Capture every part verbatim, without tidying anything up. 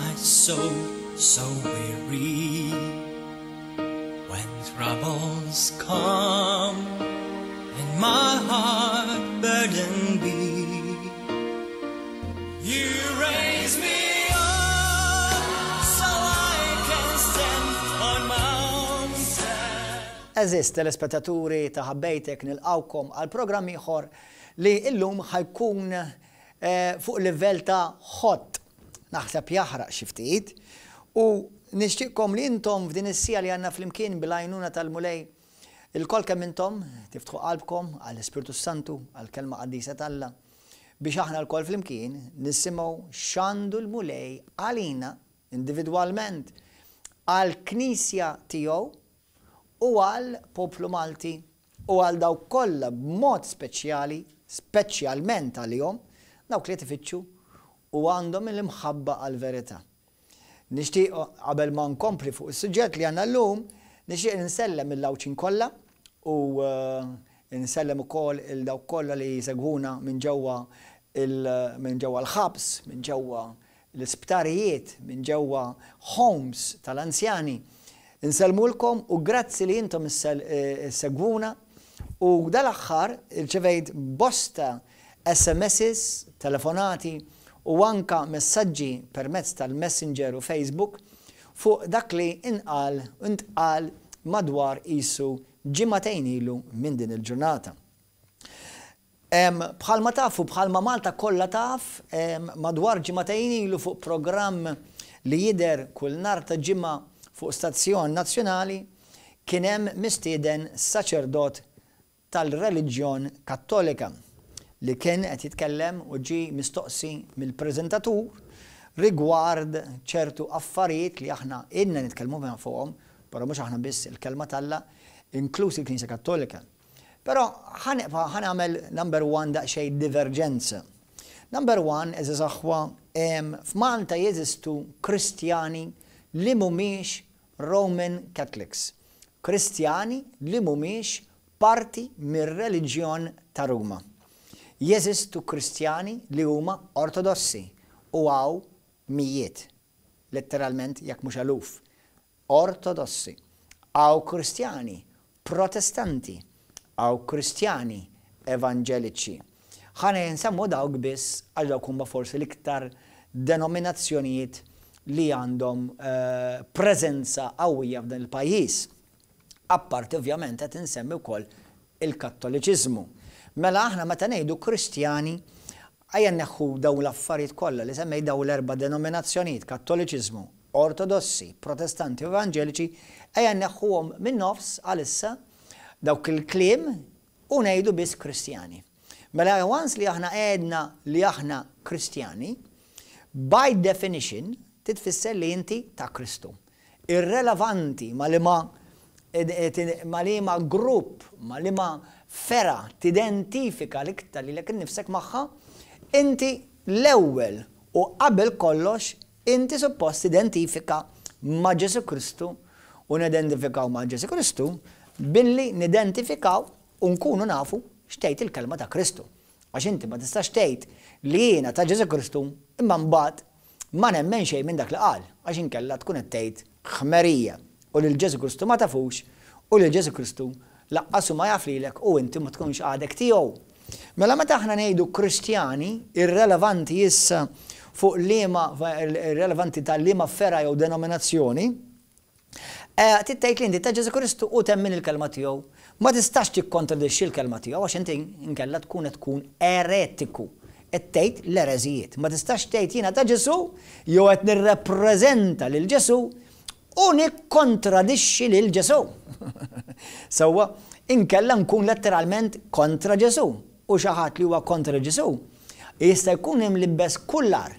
my soul so weary, when troubles come and my heart burdened be, you raise me up so I can stand on mountains. Għeżież telespettaturi ta' Ħabbejtek, nilqgħukom għal programm ieħor li illum ħa jkun eh, fuq livell ta' hot, naħseb jaħraq xi ftit, u nixtieqkom li intom f'din is-siegħa li għandna flimkien bil-għajnuna tal-Mulej ilkoll kemm intom tiftħu qalbkom għall-Ispirtu Santu, għall-kelma qaddisa t'Alla, biex aħna lkoll flimkien nisimgħu x'għandu l-Mulej għalina individwalment, għall-Knisja tiegħu u għal poplu Malti u għal dawk kollha b'mod speċjali, speċjalment għalihom, dawk li tifittxu u għandhom l-imħabba għal-verità. Nixtieq, qabel ma nkompli fuq is-suġġett li għandna llum, nixtieq nsellem lill-Għawdxin kollha u eh, nsellem ukoll lil dawk kollha li jsegwuna minn ġewwa minn ġewwa l-ħabs, minn ġewwa l-isptarijiet, minn ġewwa homes tal-anzjani. Insellmulkom u grazzi li intom issegwuna, u dal-aħħar irċevejt bosta S M Ss, telefonati u anka messaġġi permezz tal-Messenger u Facebook fuq dak li inqal intqal madwar isu ġimagħtejn ilu minn din il-ġurnata. Bħalma tafu, bħalma Malta kollha taf, madwar ġimagħtejn ilu fuq programm li jidher kull nhar ta' Ġimgħa fuq stazzjon nazzjonali kien hemm mistieden saċerdot tal-reliġjon Kattolika li kien qed jitkellem u ġi mistoqsi mill-preżentatur rigward ċertu affarijiet li aħna ilna nitkellmu fuqhom, però mhux aħna biss, il-kelma t'Alla, inkluż il-Knisja Kattolika. Però ħa nagħmel number one daqsxejn divergenza. Number one, għeżież aħwa, f'Malta jeżistu Kristjani li mhumiex Roman Catholics. Kristjani li mhumiex parti mir-reliġjon ta' Ruma. Jeżistu Kristjani li huma Ortodossi u hawn mijiet, letteralment, jekk mhux eluf. Ortodossi. Hawn Kristjani Protestanti, hawn Kristjani Evanġeliċi. Ħa nsemmu dawk biss għal dawk huma forsi l-iktar denominazzjonijiet li għandhom uh, preżenza qawwija f'dan il-pajjiż. Apparti ovvjament qed insemmi wkoll il-Kattoliċiżmu. Mela aħna meta ngħidu Kristjani, ejja nneħħu dawn l-affarijiet kollha li semmej, dawn l-erba' denominazzjonijiet, Kattoliċiżmu, Ortodossi, Protestanti u Evanġeliċi, ejja nneħħuhom minn nofs għalissa dawk il-kliem u ngħidu biss Kristjani. Mela once li aħna għedna li aħna Kristjani, by definition titfisser li inti ta' Kristu. Irrelevanti ma li ma ma li ma grupp, ma li ma fergħa tidentifika l-iktar lilek innifsek magħha, inti l-ewwel u qabel kollox inti suppost identifika ma' Ġesu Kristu, u nidentifikaw ma' Ġesu Kristu billi nidentifikaw u nkunu nafu x'tgħid il-kelma ta' Kristu. Għax inti ma tistax tgħid li jiena ta' Ġesu Kristu imma mbagħad ma nemmen xejn minn dak li qal, għax inkella tkun qed tgħid ħmerija u lil Ġesu Kristu ma tafux u lil Ġesu Kristu lanqas hu ma jaf lilek u inti ma tkunx għadek tiegħu. Mela meta aħna ngħidu Kristjani, irrelevanti issa fuq liema, irrelevanti tal-liema fergħa jew denominazzjoni, eh, tgħid li inti ta' Ġesu Kristu u temmen il-kelma tiegħu. Ma tistax tikkontradixxi l-kelma tiegħu għax inti inkella tkun qed tkun eretiku. Qed tgħid l-ereżijiet. Ma tistax tgħid jiena ta' Ġesu jew qed nirrepreżenta lil Ġesu u nikkontradixxi lil Ġesu. Sewwa, inkella nkun letteralment kontra Ġesu. U xi ħadd li huwa kontra Ġesu jista' jkun imlibbes kullar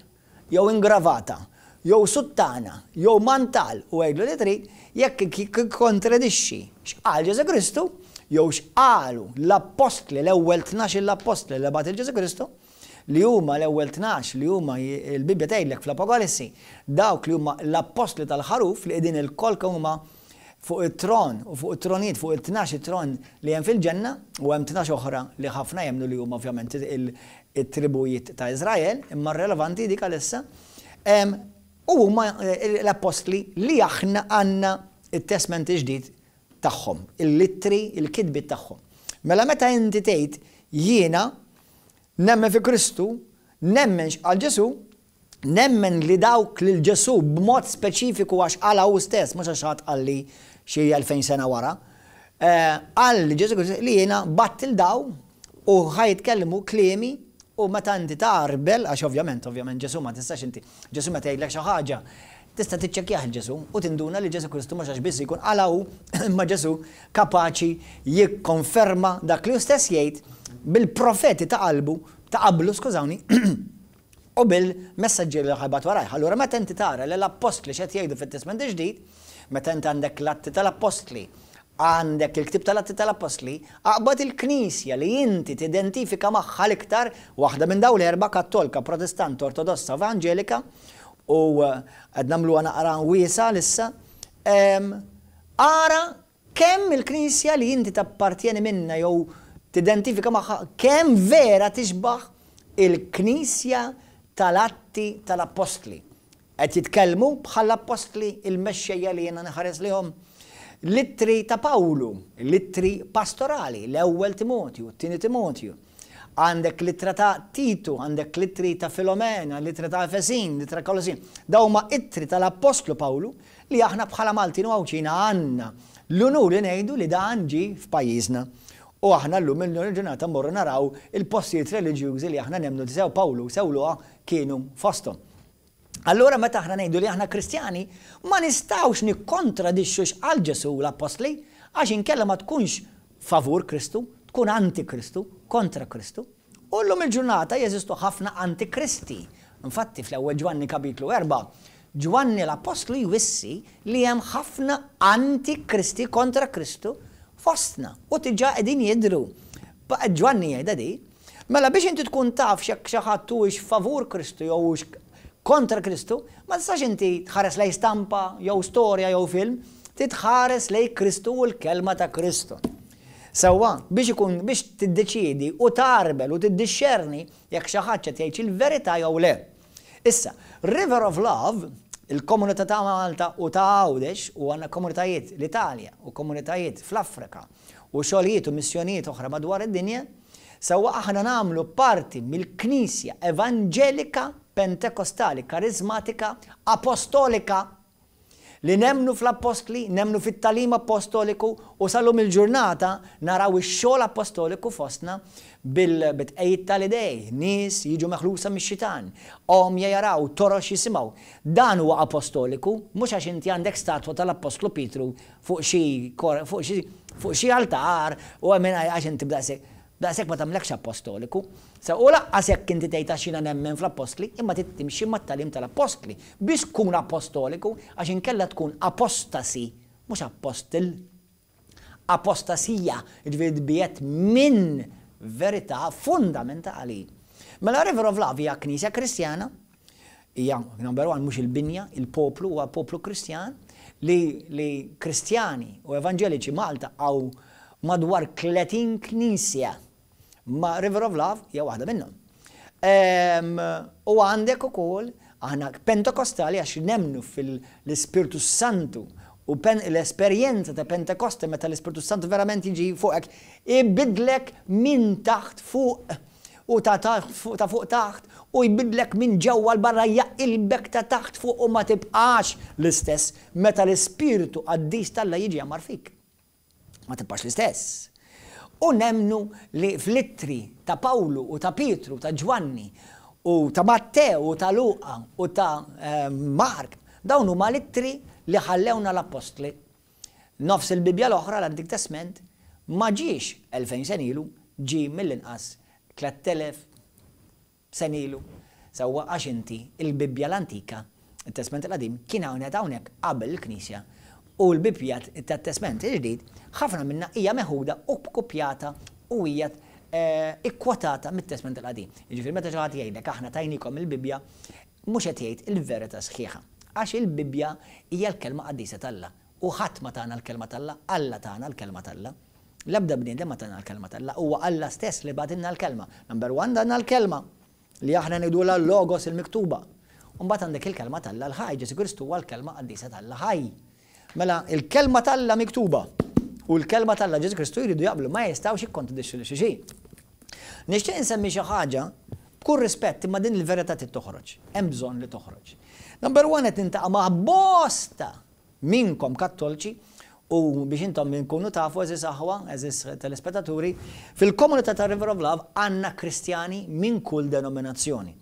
jew ingravata jew suttana jew mantal u għidlu li trid, jekk kontradixxi x'qal Ġesu Kristu jew x'qalu l-appostli, l-ewwel tnax l-appostli li bagħat il-Ġesu Kristu, li huma l-ewwel tnax li huma, il-Bibbja tgħidlek fl-Apokalissi, dawk li huma l-appostli tal-ħaruf li qegħdin ilkoll huma fuq it-tron u fuq it-tronijiet, fuq it-tnax it-tron li hemm fil-ġenna, u hemm tnax oħra li ħafna jemmnu li huma ovvjament it-tribujiet ta' Izrael, imma relevanti dik għalissa. U huma l-appostli li aħna għandna it-Testment il-Ġdid tagħhom, il-ittri, il-kitbiet tagħhom. Mela meta inti tgħid jiena nemmen fi Kristu, nemmen x'qal Ġesu, nemmen li dawk lil Ġesu b'mod speċifiku għax qalha hu stess, mhux għax ħadd qalli xi elfejn sena wara, qal li Ġesu Kristu li jiena bgħatt lil daw u ħa jitkellmu kliemi. U meta inti tgħarbel, għax ovvjament, ovvjament Ġesu ma tistax inti, Ġesu meta jgħidlek xi ħaġa, tista' tiċċekkjah il-Ġesu u tinduna li Ġesu Kristu mhux għax biss jkun qalha hu, imma Ġesu kapaċi jikkonferma dak li hu stess jgħid bil-profeti ta' qalbu, ta' qablu, skużawni, u bil-messaġġieri li ħa jibgħat warajh. Allura meta inti tara li l-appostli x'qed jgħidu fit-Testament il-Ġdid, meta inti għandek l-Atti tal-Appostli, għandek il-ktib tal-Atti tal-Appostli, aqbad il-Knisja li inti tidentifika magħha l-iktar, waħda minn dawn l-erba', Kattolika, Protestant, Ortodossa, Evangelika, u qed nagħmluha naqra wiesa lissa, ara kemm il-Knisja li inti tappartjeni minna jew tidentifika magħha kemm vera tixbaħ il-Knisja tal-Atti tal-Appostli. Qed jitkellmu bħall-appostli il-mexxejja li jiena nħares lihom. L-ittri ta' Pawlu, l-ittri pastorali, l-ewwel Timotju, t-tieni Timotju. Għandek l-ittra ta' Titu, għandek l-ittri ta' Filomena, l-ittra ta' Efesin, l-ittra Kolossin. Dawn huma ittri tal-Appostlu Pawlu li aħna bħala Maltin u Għawdxin għandna l-unur li ngħidu li dan ġie f'pajjiżna. U aħna llum il-ġurnata mmorru naraw il-postijiet reliġjużi li aħna nemmnu li sew Pawlu sew Luqa kienu fosthom. Allura meta aħna ngħidu li aħna Kristjani, ma nistgħux nikkontradixxu x'qal Ġesu l-appostli, għax inkella ma tkunx favur Kristu, tkun anti-Kristu, kontra Kristu. U llum il-ġurnata jeżistu ħafna antikristi. Infatti fl-ewwel Ġwanni kapitlu erba', Ġwanni l-Appostlu jwissi li hemm ħafna antikristi kontra Kristu fostna u diġà qegħdin jidhru. Ġwanni jgħidha di. Mela biex inti tkun taf x'jekk xi ħadd huwiex favur Kristu jew hux kontra Kristu, ma tistax inti tħares lej stampa jew storja jew film, titħares lej Kristu u l-kelma ta' Kristu. Sewwa, biex ikun biex tiddeċiedi u tgħarbel u tiddixxerni jekk xi ħadd qed jgħid il-verità jew le. Issa, River of Love, il-komunità ta' Malta u ta' Għawdex, u għandna komunitajiet l-Italja u komunitajiet fl-Afrika u xogħlijiet u missjonijiet oħra madwar id-dinja, sewwa aħna nagħmlu parti mill-Knisja Evanġelika Pentekostali, Karizmatika, Apostolika, li nemmnu fl-appostli, nemmnu fit-tagħlim apostoliku u sal-lum il-ġurnata naraw ix-xogħol apostoliku fostna bil-tqejjid tal-idej, nies jiġu meħlusa mix-xitan, għomja jaraw, torox jisimgħu. Dan huwa apostoliku, mhux għax inti għandek statwa tal-Appostlu Pietru fuq xi fuq xi fuq xi altar u għamina għax inti b'daqshekk daqshekk ma tagħmlekx apostoliku. Sa u laqqas jekk inti tgħid għax jiena nemmen fl-appostli, imma trid timxi mat-tagħlim tal-appostli biex tkun apostoliku, għax inkella tkun apostasi, mhux apostil. Apostasija, jiġifieri tbiegħed minn verità fundamentali. Mela River of Love hija knisja Kristjana, hija number one mhux il-binja, il-poplu huwa poplu Kristjan, li, li Kristjani u Evanġeliċi Malta għaw madwar tletin knisja. Ma River of Love hija waħda minnhom. U għandek ukoll aħna Pentekostali għax nemmnu fil-Ispirtu Santu u l-esperjenza ta' Pentekoste meta l-Ispirtu Santu verament jiġi fuqek ibidlek minn taħt fuq u ta' ta' fuq taħt u jbidlek minn ġewwa 'l barra, jaqilbek ta' taħt fuq u ma tibqax l-istess meta l-Ispirtu Qaddis t'Alla jiġi jgħammar fik. Ma tibqax l-istess. U nemmnu li fl-ittri ta' Pawlu u ta' Pietru, ta' Ġwanni u ta' Matteo u ta' Luqa u ta' Mark, dawn huma l-ittri li ħallewna l-appostli. Nofs il-Bibja l-oħra, l-Antik Testament, ma ġiex elfejn sena ilu, ġie mill-inqas tlett elef sena ilu. Sewwa għax inti il-Bibja l-Antika, il-Testament il-Qadim, kien hawnhekk hawnhekk qabel il-Knisja. U l-Bibja tat-Testament il-Ġdid ħafna minna hija meħuda u kopjata u hija ikkwotata mit-Testament il-Qadim. Jiġifieri meta xi ħadd jgħidlek aħna tajnikom il-Bibja, mhux qed jgħid il-verità sħiħa. Għax il-Bibja hija l-kelma qaddisa t'Alla. U ħadd ma tana l-kelma t'Alla, Alla tana l-kelma t'Alla. L-ebda bniedem ma tana l-kelma t'Alla, huwa Alla stess li bagħtilna l-kelma. Number one, danna l-kelma li aħna ngħidulha l-logos il-miktuba. U mbagħad għandek il-kelma t'Alla l-ħaj, Ġesù Kristu huwa l-kelma qaddisa t'Alla ħaj. Mela il-kelma t'Alla miktuba u l-kelma t'Alla Ġesù Kristu jridu jaqblu, ma jistgħux jikkontradixxu lil xulxin. Nixtieq insemmi xi ħaġa b'kull rispett, imma din il-verità trid toħroġ. Hemm bżonn li toħroġ. Number one, qed nintaqa' ma' bosta minkom kattolċi, u biex intom minkunu tafu, għeżież aħwa, għeżież telespettaturi, fil-komunità ta' River of Love għandna Kristjani minn kull denominazzjoni.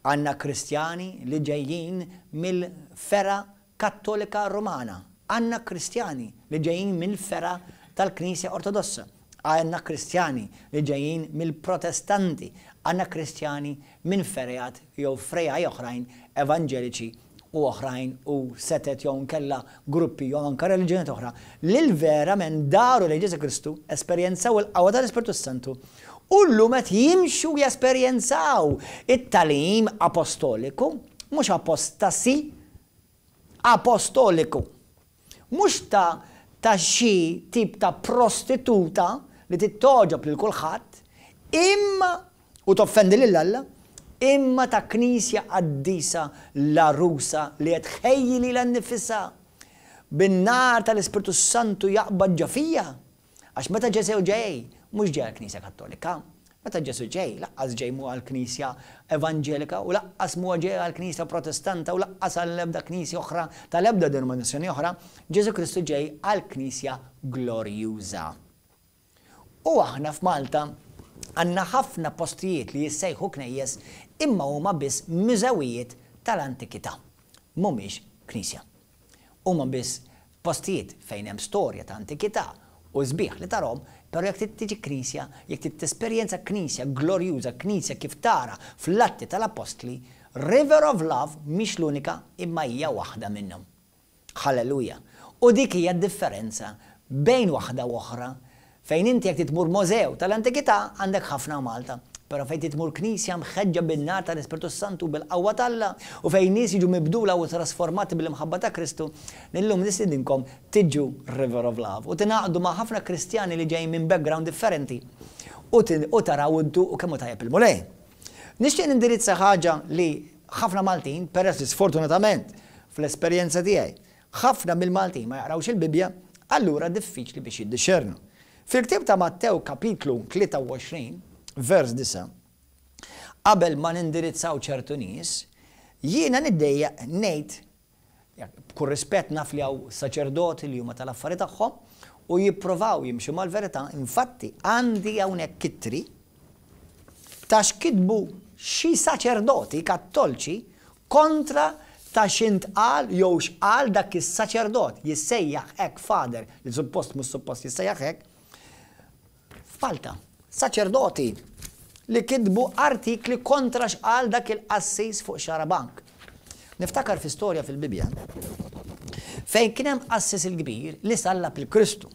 Għandna Kristjani li ġejjin mill-fergħa Kattolika Romana. Għandna Kristjani li ġejjin mill-fergħa tal-Knisja Ortodossa. Għandna Kristjani li ġejjin mill-Protestanti. Għandna Kristjani minn fergħat jew frejaj oħrajn evanġeliċi u oħrajn u setet jew nkella gruppi jew anka reliġjonijiet oħra li verament daru lejn Ġesù Kristu, esperjenzaw il-qawwa tal-Ispirtu Santu u llum qed jimxu jesperjenzaw it-tagħlim apostoliku, mhux apostasi, apostoliku. Mhux ta' ta' xi tip ta' prostituta li tittoġob lil kulħadd, imma u toffendi lil Alla, imma ta' knisja qaddisa l-għarusa li qed tħejji lilha nnifisha bin-nar tal-Ispirtu Santu jaqbad ġo fija. Għax meta Ġesù ġej, mhux ġej għall-Knisja Kattolika. Meta Ġesù ġej, laqqas ġej mhu għall-Knisja Evanġelika u laqqas mhu ġej għall-Knisja Protestanta u laqqas għall-ebda knisja oħra tal-ebda denominazzjoni oħra, Ġesù Kristu ġej għall-Knisja glorjuża. U aħna f'Malta għandna ħafna postijiet li jissejħu knejjes imma huma biss mużewijiet tal-antikità. Mhumiex knisja. Huma biss postijiet fejn hemm storja ta' antikità u sbieħ li tarhom, però jekk trid tiġi knisja, jekk trid tesperjenza knisja glorjuża, knisja kif tara fl-Atti tal-Appostli, River of Love mhix l-unika imma hija waħda minnhom. Halleluja. U dik hija d-differenza bejn waħda u oħra. Fejn inti jekk titmur mużew tal-antikità għandek ħafna Malta, però fejn titmur knisja mħeġġa bin-nar tal-Ispirtu Santu bil-qawwa t'Alla u fejn nies jiġu mibdula u trasformati bil-imħabba ta' Kristu, illum nistedinkom tiġu River of Love u tingħaqdu ma' ħafna Kristjani li ġejjin minn background differenti u taraw intu u kemm hu tajjeb il-Mulej. Nixtieq nindirizza ħaġa li ħafna Maltin, peress li sfortunatament fl-esperjenza tiegħi, ħafna mill-Maltin ma jaqrawx il-Bibbja, allura diffiċli biex jiddixxernu. Fil-ktieb ta' Mattew kapitlu tlieta u għoxrin, vers disgħa, qabel ma nindirizzaw ċertu nies, jiena niddejjaq ngħid, b'kull rispett naf li hawn saċerdoti li huma tal-affari tagħhom u jipprovaw jimxu mal-verità, infatti għandi hawnhekk ittri ta' x'kitbu xi saċerdoti kattolċi kontra ta' x'intqal jew x'qal dak is-saċerdot jissejjaħ hekk father, li suppost mhux suppost jissejjaħ hekk, f'Malta. Saċerdoti li kitbu artikli kontra x'qal dak il-qassis fuq Xarabank. Niftakar fi storja fil-Bibbja fejn kien hemm qassis il-kbir li sallab il-Kristu.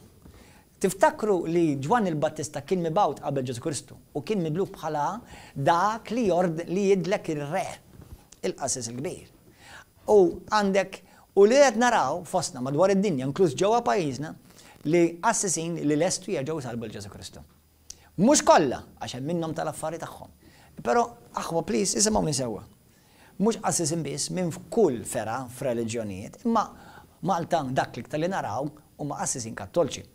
Tiftakru li Ġwanni l-Battista kien mibgħut qabel Ġesù Kristu u kien midluk bħala dak li jord li jidlek ir-re, il-qassis il-kbir. U għandek u li qed naraw fostna madwar id-dinja, inkluż ġewwa pajjiżna, li qassisin li lestu jerġgħu jsalbu l Ġesù Kristu. Mhux kollha, għax hemm minnhom tal-affari tagħhom. Però aħwa please isimgħuni sewwa. Mhux qassisin biss minn f'kull fergħa f'reliġjonijiet, imma Malta dak l-iktar li naraw huma qassisin kattolċi.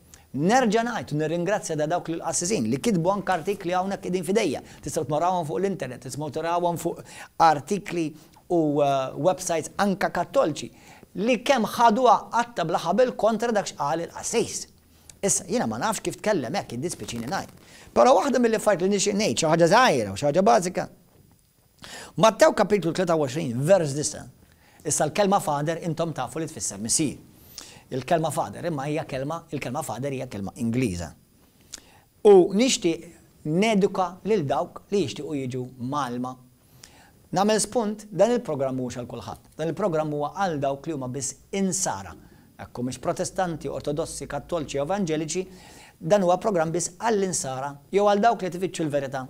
Nerġa' ngħid u nirringrazzja da dawk l-qassisin li kitbu anke artikli hawnhekk qegħdin f'idejja. Tistgħu tmarawhom fuq l-internet, tistgħu tarawhom fuq artikli u websites anke kattolċi li kemm ħaduha qatta bla ħabel kontra dak x'qal il-qassis. Issa, jiena ma nafx kif tkellem hekk, jiddispjaċini ngħid. Però waħda mill-affarijiet li nixtieq ngħid, xi ħaġa żgħira u xi ħaġa bażika. Mattew kapitlu tlieta u għoxrin, vers disgħa. Issa l-kelma father intom tafu li tfisser missier. Il-kelma father imma hija kelma, il-kelma father hija kelma Ingliża. U nixtieq neduka lil dawk li jixtiequ jiġu mgħallma. Nagħmel spunt, dan il-programm mhuwiex għal kulħadd. Dan il-programm huwa għal dawk li huma biss insara. Jekk humiex Protestanti, Ortodossi, Kattolċi jew Evanġeliċi, dan huwa programm biss għall-insara jew għal dawk li tifittxu l-verità.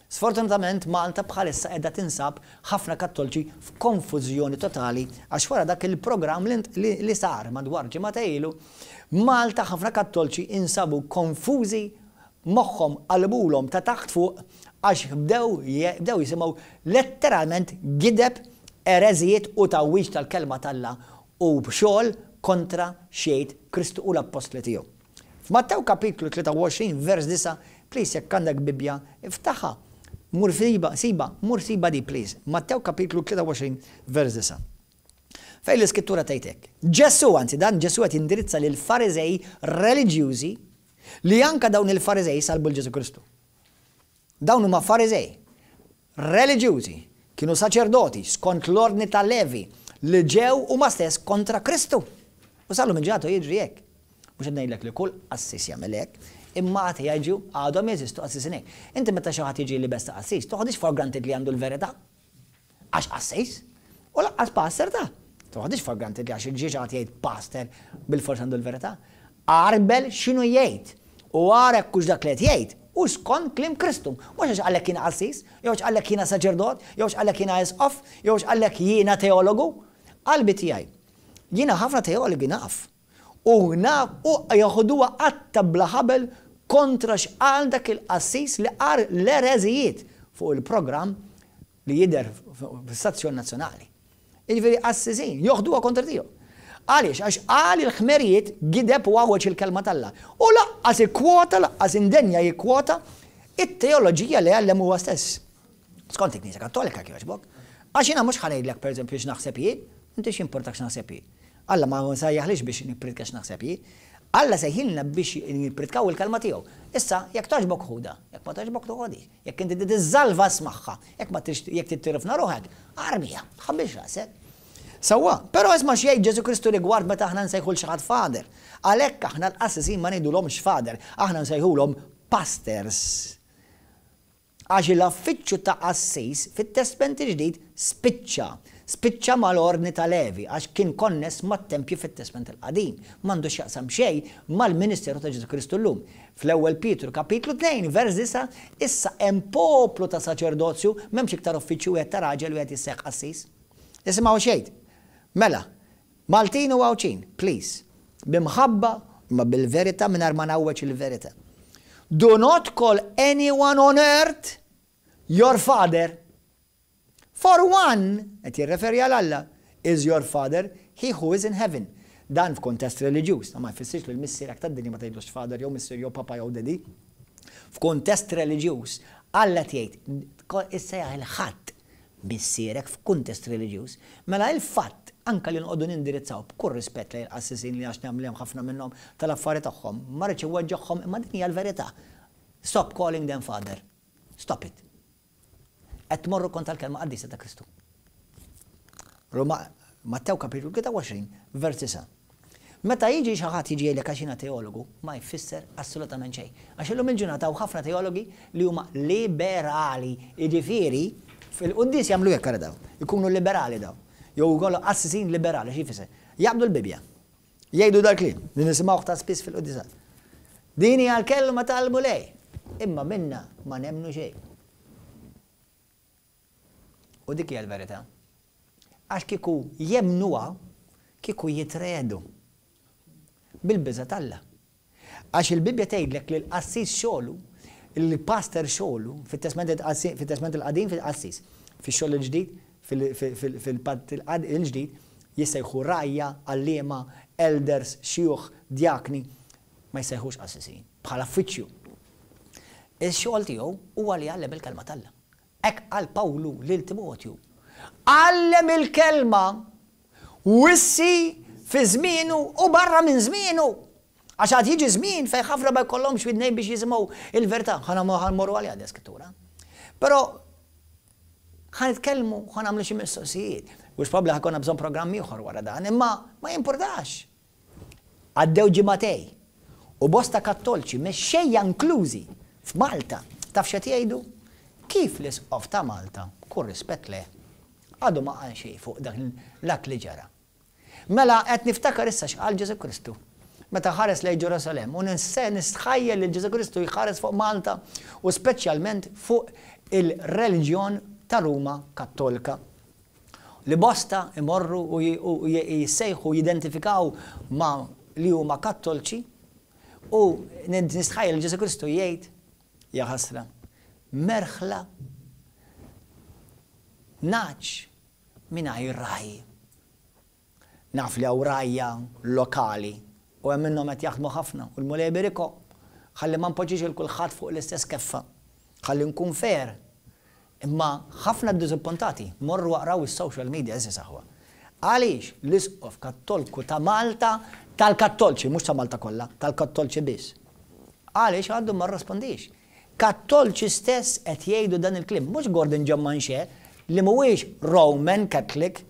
Sfortunatament Malta bħalissa qiegħda tinsab ħafna Kattolċi f'konfużjoni totali għax wara dak il-programm li, li sar madwar ġimgħa ilu, Malta ħafna Kattolċi insabu konfużi, moħħhom qalbulhom ta' taħt fuq għax bdew bdew jisimgħu letteralment gideb Ereżijiet u tgħawwiġ tal-kelma t'Alla u xogħol kontra x'jgħid Kristu u l-appostli tiegħu. F'Mattew kapitlu tlieta u għoxrin vers disgħa, please, jekk għandek Bibbja, iftaħha. Mur siba, siba, mur siba di, please. Mattew kapitlu tlieta u għoxrin vers disgħa. Fejn l-iskrittura tgħidlek. Ġesu, anzi dan Ġesu qed jindirizza lil Fariżej reliġjużi li anka dawn il-Fariżej salbu l Ġesu Kristu. Dawn huma Fariżej reliġjużi, kienu saċerdoti skont l-ordni ta' Levi li ġew huma stess kontra Kristu. U sal-lum il-ġurnata jiġri hekk. Mhux qed ngħidlek li kull qassis jagħmel hekk, imma għad jiġu, għadhom jeżistu qassisin hekk. Inti meta xi ħadd jiġi liebes ta' qassis, toħodix for granted li għandu l-verità. Għax qassis, u lanqas pastor ta' toħodix for granted li għax il-ġiex għad jgħid pastor bil-fors għandu l-verità. Għarbel x'inhu jgħid u ara hux dak li qed jgħid u skont kliem Kristu. Mhux għax għalhekk jiena qassis, jew għax għalhekk jiena saċerdot, jew għax għalhekk jiena isqof, jew għax għalhekk jiena teologu. Qalbi tiegħi. Jiena ħafna teologi naf. U naf u joħduha qatta bla ħabel kontra x'qal dak il-qassis li qal l-ereżijiet fuq il-programm li jidher fis-stazzjon nazzjonali. Jiġifieri qassisin joħduha kontra tiegħu. Għaliex? Għax qal il-ħmerijiet, gideb u għawweġ il-kelma t'Alla. U lanqas ikkwota, lanqas indenja jikkwota it-teoloġija li għallem huwa stess. Skont il-Knisja Kattolika, kif. Għax jiena mhux ħa ngħidlek, pereżempju, x'naħseb jien, inti x'importak x'naħseb jien? Alla ma sejjaħlix biex nippritka x'naħseb jien. Alla sejħilna biex nippritkaw il-kelma tiegħu. Issa, jekk togħġbok ħudha, jekk ma togħġbok toħodhiex, jekk inti tiżżalva ismagħha, jekk ma jekk tittirifna ruħek, armiha, tħabbilx rasek. Sewwa, però isma' x'jgħid Ġesu Kristu rigward meta aħna nsejħu 'l xi ħadd father. Għalhekk aħna l-qassisin ma ngħidulhomx father, aħna nsejħulhom pastors. Għax l-affiċċju ta' qassis fit-Testament il-Ġdid spiċċa. Spiċċa mal-ordni ta' Levi, għax kien konness mat-tempju fit-Testament il-Qadim. M'għandu x'jaqsam xejn mal-Ministeru ta' Ġesu Kristu llum. Fl-ewwel Pietru kapitlu tnejn vers disgħa, issa hemm poplu ta' saċerdozju, m'hemmx iktar uffiċċju wieħed ta' raġel wieħed jissejjaħ qassis. Isimgħu xejn. Mela, Maltin u Għawdxin, please, b'imħabba ma bil-verità, mingħajr ma ngħawweġ il-verità. Do not call anyone on earth your father. For one, qed jirreferi għal Alla, is your father, he who is in heaven. Dan f'kontest reliġjuż, ma jfissirx li l-missierek tad-dinja ma tgħidlux father jew missier jew papa jew daddy. F'kontest reliġjuż, Alla tgħid issejjaħ 'il ħadd missierek f'kuntest reliġjuż. Mela il-fatt anka li nqogħdu nindirizzaw b'kull rispett lejn il-qassisin li għax nagħmlem ħafna minnhom tal-affari tagħhom, ma rridx inweġġagħhom, imma din hija l-verità. Stop calling them father. Stop it. Qed tmorru kontra l-kelma qaddisa ta' Kristu. Roma, Mattew kapitlu tlieta u għoxrin, vers disgħa. Meta jiġi xi ħadd jiġi jgħidlek għax jiena teologu, ma jfisser assolutament xejn. Għax illum il-ġurnata hawn ħafna teologi li huma liberali, jiġifieri fil-quddis jagħmlu hekk daw, ikunu liberali daw. Jew jkollhom qassisin liberali, xi jfisser? Jaqbdu l-Bibbja. Jgħidu dal-kliem li nisimgħu ta' spiss fil-quddisat. Din hija l-kelma tal-Mulej. Imma minna ma nemmnu xejn. U dik hija l-verità. Għax kieku jemmnuha, kieku jitriegħdu. Bil-biża' t'Alla. Għax il-Bibbja tgħidlek li l-qassis xogħlu, il-pastor xogħlu, fit-Testament il-Qadim fil-qassis, fix-xogħol il-ġdid, fil-patt il-ġdid, jissejħu rgħajja, għalliema, elders, xjuħ, djakni, ma jissejħux qassisin, bħala uffiċċju. Il-xogħol tiegħu huwa li jgħallem il-kelma t'Alla. Hekk qal Pawlu lil Timotju. Għallem il-kelma, wissi fi żmienu u barra minn żmienu. Għax għad jiġi żmien fejn ħafna ma jkollhomx widnejn biex jisimgħu il-verità. Ħa mmorru għaliha skrittura. Però ħa nitkellmu, ħa nagħmlu xi mistoqsijiet. U probabbli ħa jkollna bżonn programm ieħor wara dan, imma ma jimpurtax. Għaddew ġimagħtejn u bosta Kattolċi mexxejja inklużi f'Malta, taf x'qed jgħidu? Kif l-isqof ta' Malta, kull rispett le, għadu ma qal xejn fuq dak l-att li ġara? Mela qed niftakar issa x'qal Ġesu Kristu meta ħares lejn Ġerusalem u nistħajjel li Ġesu Kristu jħares fuq Malta u speċjalment fuq il-reliġjon ta' Ruma Kattolika. Li bosta imorru u jissejħu, jidentifikaw ma li huma Kattolċi, u nistħajjel li Ġesu Kristu jgħid: "Ja ħasra, merħla nagħaġ mingħajr ragħaj. Naf li hawn rgħajja lokali u hemm minnhom qed jaħdmu ħafna u l-Mulej iberikhom. Ħalli ma npoġġix il kulħadd fuq l-istess keffa. Ħalli nkun fair. Imma ħafna ddiżappuntati, morru aqraw is-social media, għeżież aħwa. Għaliex l-Isqof Kattolku ta' Malta, tal-Kattolċi, mhux ta' Malta kollha, tal-Kattolċi biss. Għaliex għadu ma rrispondix? Kattolċi stess qed jgħidu dan il-kliem, mhux Gordon John Manche li mhuwiex Roman Catholic,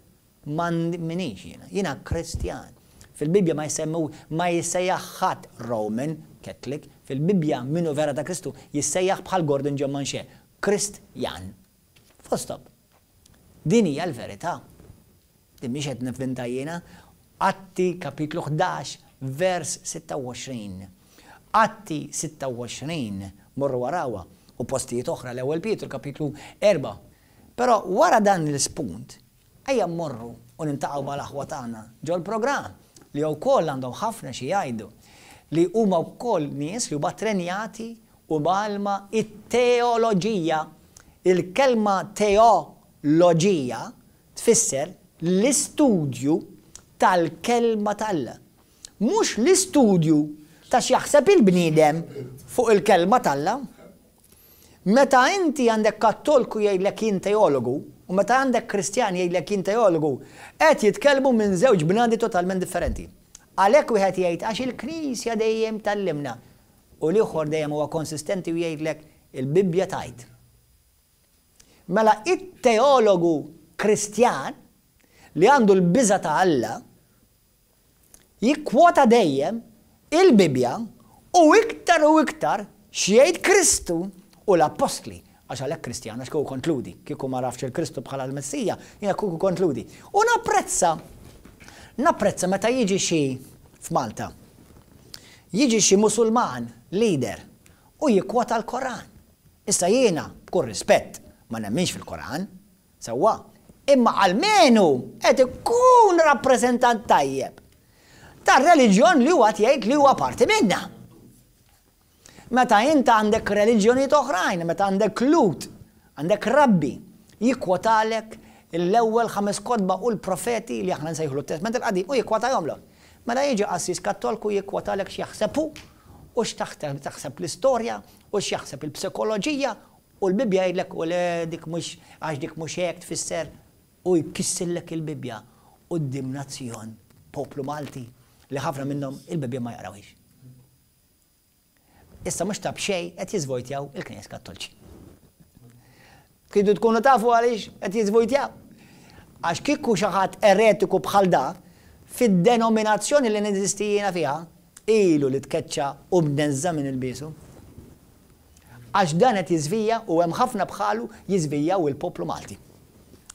ma minix jiena, jiena Kristjan. Fil-Bibbja ma jsemmu ma jissejjaħ ħadd Roman Catholic, fil-Bibbja min hu vera ta' Kristu jissejjaħ bħal Gordon John Manche, Kristjan. Full stop. Din hija l-verità. Din mhix qed nivvinta jiena. Atti kapitlu ħdax vers sitta u għoxrin. Atti sitta u għoxrin, morru warawha, u postijiet oħra, l-Ewwel Pietru kapitlu erbgħa. Però wara dan l-ispunt, ejja mmorru u niltaqgħu mal-aħwa tagħna ġol-programm li wkoll għandhom ħafna xi jgħidu, li huma wkoll nies li huma trenjati u mgħallma it-teoloġija. Il-kelma teoloġija tfisser l-istudju tal-kelma t'Alla. Mhux l-istudju ta' x'jaħseb il-bniedem fuq il-kelma t'Alla. Meta inti għandek kattolku jgħidlek jien teologu, u meta għandek kristjan jgħidlek jien teologu, qed jitkellmu minn żewġ bnadi totalment differenti. Għalhekk wieħed jgħid għax il-Knisja dejjem tallimna, u l-ieħor dejjem huwa konsistenti u jgħidlek il-Bibbja tgħid. Mela it-teologu Kristjan li għandu l-biża' ta' Alla jikkwota dejjem il-Bibbja u iktar u iktar x'jgħid Kristu u l-Appostli. Għax għalhekk Kristjan, għax kieku kont Lhudi, kieku ma rafx il-Kristu bħala l-Messija, jiena kieku kont Lhudi. U napprezza, napprezza meta jiġi xi f'Malta, jiġi xi Musulman leader u jikkwota l-Koran. Issa jiena, b'kull rispett, ma nemminx fil-Koran, sewwa, imma almenu qed ikun rappreżentant tajjeb tar-reliġjon li huwa jgħid li huwa parti minnha. Meta int għandek reliġjonijiet oħrajn, meta għandek Lhud, għandek rabbi, jikkwotalek l-ewwel ħames kotba u l-profeti li aħna nsejħulu t-Testament il-Qadim u jikkwotajhomlok. Meta jiġi qassis Kattolku jikkwotalek x'jaħseb hu u x'taħseb taħseb l-istorja u x'jaħseb il-psikoloġija u l-Bibbja jgħidlek u le dik mhux għax dik mhux hekk tfisser u jkissillek il-Bibbja quddiem nazzjon, poplu Malti li ħafna minnhom il-Bibbja ma jaqrawhiex. Issa mhux ta' b'xejn qed jiżvojtjaw il-Knejjes Kattolċi. Tridu tkunu tafu għaliex qed jiżvojtjaw. Għax kieku xi ħadd eretiku bħal da, fid-denominazzjoni li neżisti jiena fiha, ilu li tkeċċa u bnezza minn il-bisu. Għax dan qed jiżvija u hemm ħafna bħalu jiżvijaw il-poplu Malti.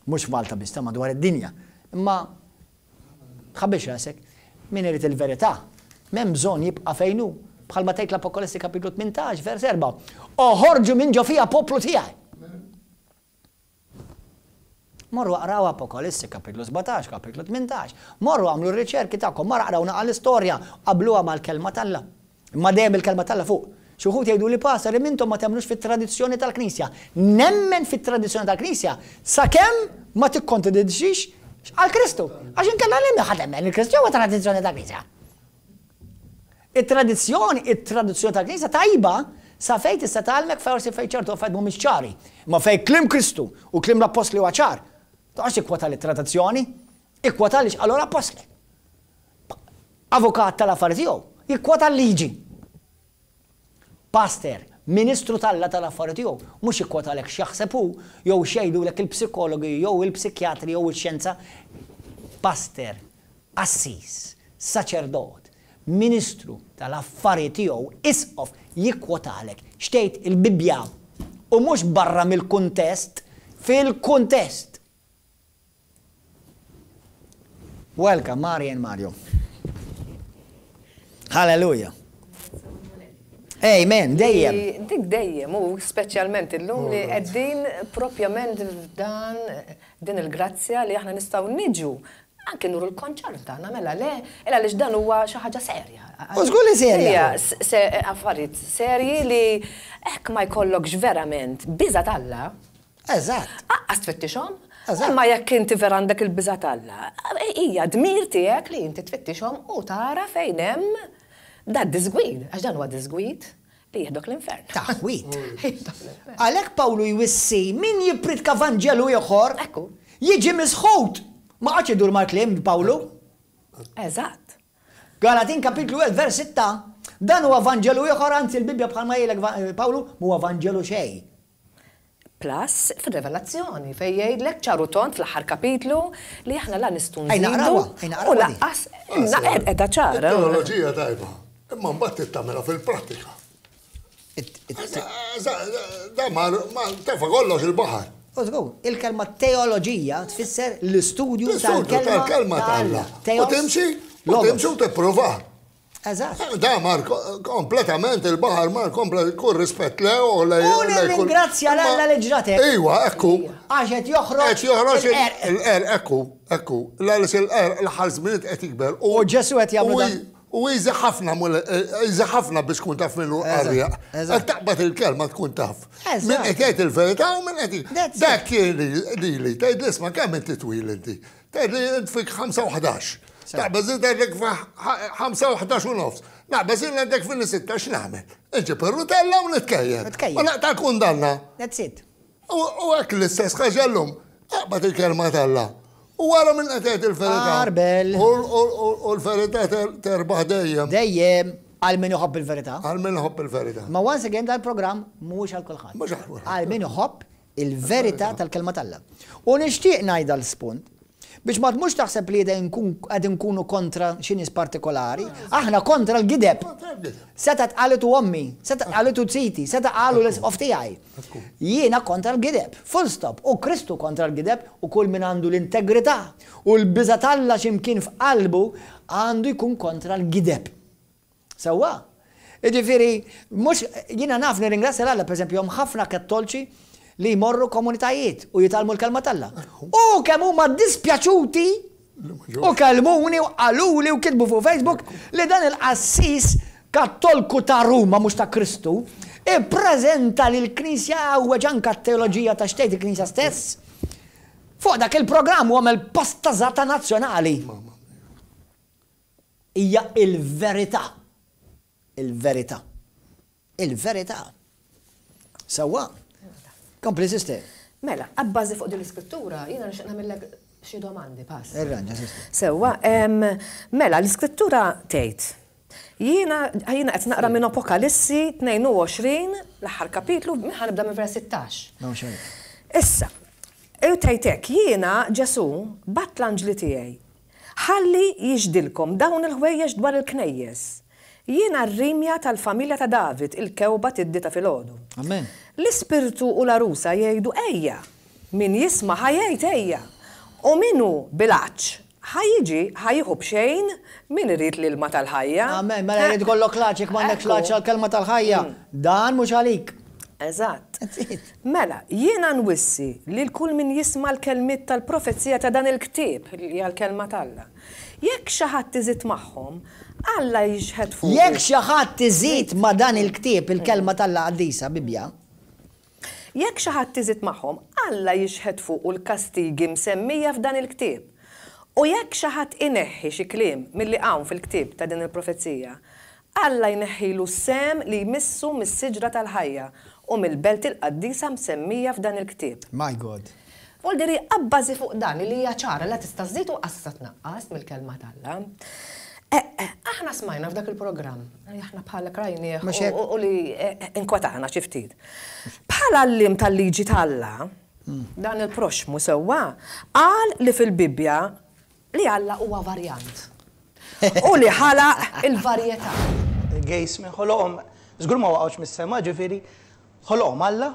Mhux f'Malta biss, ta' madwar id-dinja. Imma tħabbix rasek, min irid il-verità, m'hemm bżonn jibqa' fejn hu. Bħalma tgħid l-Apokalissi kapitlu tmintax, vers erbgħa. Oħorġu minn ġo fija poplu tiegħi. Morru aqraw Apokalissi kapitlu sbatax, kapitlu tmintax. Morru għamlu r-riċerki tagħkom, marru aqraw naqa l-istorja, qabluha mal-kelma t'Alla. Imma dejjem il-kelma t'Alla fuq. Xi wħud jgħidu li pastor, intom ma temmnux fit-tradizzjoni tal-Knisja. Nemmen fit-tradizzjoni tal-Knisja sakemm ma tikkontradixxix għal Kristu. Għax inkella li ħadd emmen il-Kristu huwa tradizzjoni tal-Knisja. It-tradizzjoni, it-tradizzjoni tal-Knisja tajba sa fejn tista' tgħallmek forsi fejn ċertu affarijiet mhumiex ċari. Ma fejn kliem Kristu u kliem l-Appostli huwa ċar. Toqgħodx ikkwota li tradizzjoni, ikkwota li x'qalu l-Appostli. Avukat tal-affarijiet tiegħu, jikkwota l-liġi. Pastor, ministru t'Alla tal-affarijiet tiegħu, mhux jikkwotalek x'jaħseb hu, jew x'jgħidulek il-psikologi, jew il-psikjatri, jew il-xjenza. Pastor, qassis, saċerdot, ministru tal-affarijiet tiegħu, isqof, jikkwotalek x'tgħid il-Bibbja u mhux barra mill-kuntest, fil-kuntest. Welcome, Mari and Mario. Hallelujah. Amen, dejjem. Dik dejjem, u speċjalment illum li qegħdin propjament f'dan din il-grazzja li aħna nistgħu niġu anke nuru l-konċert tagħna, mela le, illa għaliex dan huwa xi ħaġa serja. U żgur li serja. Hija s-, se-, affarijiet serji li hekk ma jkollokx verament biża' t'Alla. Eżatt. Aqqas tfittixhom, Imma jekk inti vera għandek il-biża' t'Alla, hija dmir tiegħek li inti tfittixhom u tara fejn hemm da disgwid, għax dan huwa disgwid li jieħdok l-infern. Taħwit. Għalhekk Pawlu jwissi min jippritka Vanġelu ieħor jiġi misħut. Ma qagħadx idur mal-kliem Pawlu. Eżatt. Galatin kapitlu erba' vers sitta, dan huwa Vanġelu ieħor, anzi l-Bibbja bħalma jgħidlek Pawlu mhuwa Vanġelu xejn. Plus, fil-revelazzjoni, fej jgħidlek ċaru tont fl-aħħar kapitlu li aħna la nistgħu nżidu u laqqas qiegħda ċara. Teoloġija tajba, imma mbagħad tagħmilha fil-prattika. Da ma tefa' kollox il-baħar. Użgur, il-kelma teoloġija tfisser l-istudju tal-kelma t'Alla. U timxi, u timxi u tipprova. Eżatt. Da mar kompletament il-baħar mar komplet kull rispett le u le. U nirringrazzja l-Alla li ġratek. Iwa, ekku. Għax qed joħroġ. Qed joħroġ il-qerq, ekku, ekku. L-għalis il-qerq l-aħħar żminijiet qed jikber. U Ġesu qed jagħmlu dan. U easy ħafna, easy ħafna biex tkun taf minnu qarrieq. Qed taqbad il-kelma tkun taf. Min qed jgħid il-verità u min qed. Dak kien lili, tgħid l-isma' kemm inti twil inti. Tgħid li int fik ħamsa u ħdax. Naqbeż int għandek ħamsa u ħdax u nofs. Naqbeż int għandek fil sitta x'nagħmel. Inġib ir-rutella u nitkejjel. U naqta' kundanna. That's it. U hekk l-istess ħaġa llum. Aqbad il-kelma t'Alla. U wara minn qed jgħid il-verità. Arbel. U l-verità terbaħ dejjem. Dejjem għal min iħobb il-verità. Għal min iħobb il-verità. Ma once again dal-programm mhuwiex għal kulħadd. Mhux għal kulħadd. Għal min iħobb il-verità tal-kelma t'Alla. U nixtieq ngħid dal-spunt biex ma tmux taħseb li qed nkunu kontra xi nies partikolari, aħna kontra l-gideb. Seta tqalitu ommi, seta tqalitu ziti, seta qalu l-isqof tiegħi. Jiena kontra l-gideb, full stop. U Kristu kontra l-gideb u kull min għandu l-integrità u l-biża' t'Alla x'imkien f'qalbu għandu jkun kontra l-gideb. Sewwa? Jiġifieri, mhux jiena naf nirringrazzja l-Alla, pereżempju, hemm ħafna kattolċi li jmorru komunitajiet u jitgħallmu l-kelma t'Alla. U kemm huma dispjaċuti u kellmuni u qaluli u kitbu fuq Facebook li dan il-qassis kattolku ta' Ruma mhux ta' Kristu ippreżenta lill-Knisja għawweġ anke t-teoloġija ta' xtejt il-Knisja stess. Fuq dak il-programm u għamel pastażata nazzjonali. Hija il-verità. Il-verità. Il-verità. Sewwa. Kompli, sister. Mela, abbażi fuq din l-iskrittura, jiena nixtieq nagħmellek xi domandi, pass. Irranġa, sister. Sewwa, mela, l-iskrittura tgħid. Jiena jiena qed naqra minn Apokalissi tnejn u għoxrin, l-aħħar kapitlu, ħa nibda minn vers sittax. Issa, tgħid hekk, jiena Ġesu bat l-anġli tiegħi. Ħalli jixdilkom dawn il-ħwejjeġ dwar il-knejjes. Jiena r-rimja tal-familja ta' David, il-kewba tiddi ta' filgħodu. Amen. L-ispirtu u l-arusa jgħidu ejja, min jisma' ħa jgħid ejja. U min hu bil-għatx ħa jiġi ħa jieħu b'xejn min irid l-ilma tal-ħajja. Amen, mela jrid ikollok l-għatx jekk m'għandekx l-għatx għall-kelma tal-ħajja. Dan mhux għalik. Eżatt. Mela, jiena nwissi lil kull min jisma' l-kelmiet tal-profezija ta' dan il-ktieb li hija l-kelma t'Alla. Jekk xi ħadd iżid magħhom, Alla jixħet fuq. Jekk xi ħadd iżid ma' dan il-ktieb il-kelma t'Alla qaddisa, Bibbja. Jekk xi ħadd iżid magħhom, Alla jixħet fuqu l-kastigi msemmija f'dan il-ktieb. U jekk xi ħadd ineħħi xi kliem milli hawn fil-ktieb ta' din il-profezija, Alla jneħħilu s-sehem li jmissu mis-siġra tal-ħajja u mill-belt il-qaddisa msemmija f'dan il-ktieb. My God. Voldiri abbażi fuq dan li hija ċara la tista' żżid u qas tista' tnaqqas mill-kelma t'Alla. Aħna smajna f'dak il-programm, aħna bħala krajnieh u li inkwetana xi ftit. Bħala għalliem tal-liġi t'Alla, dan il-proxmu sewwa qal li fil-Bibbja li Alla huwa varjant. U li ħalaq il-varjetà. Il-gays minn ħoloqhom, żgur ma waqgħux mis-sema, ġifieri ħoloqhom Alla,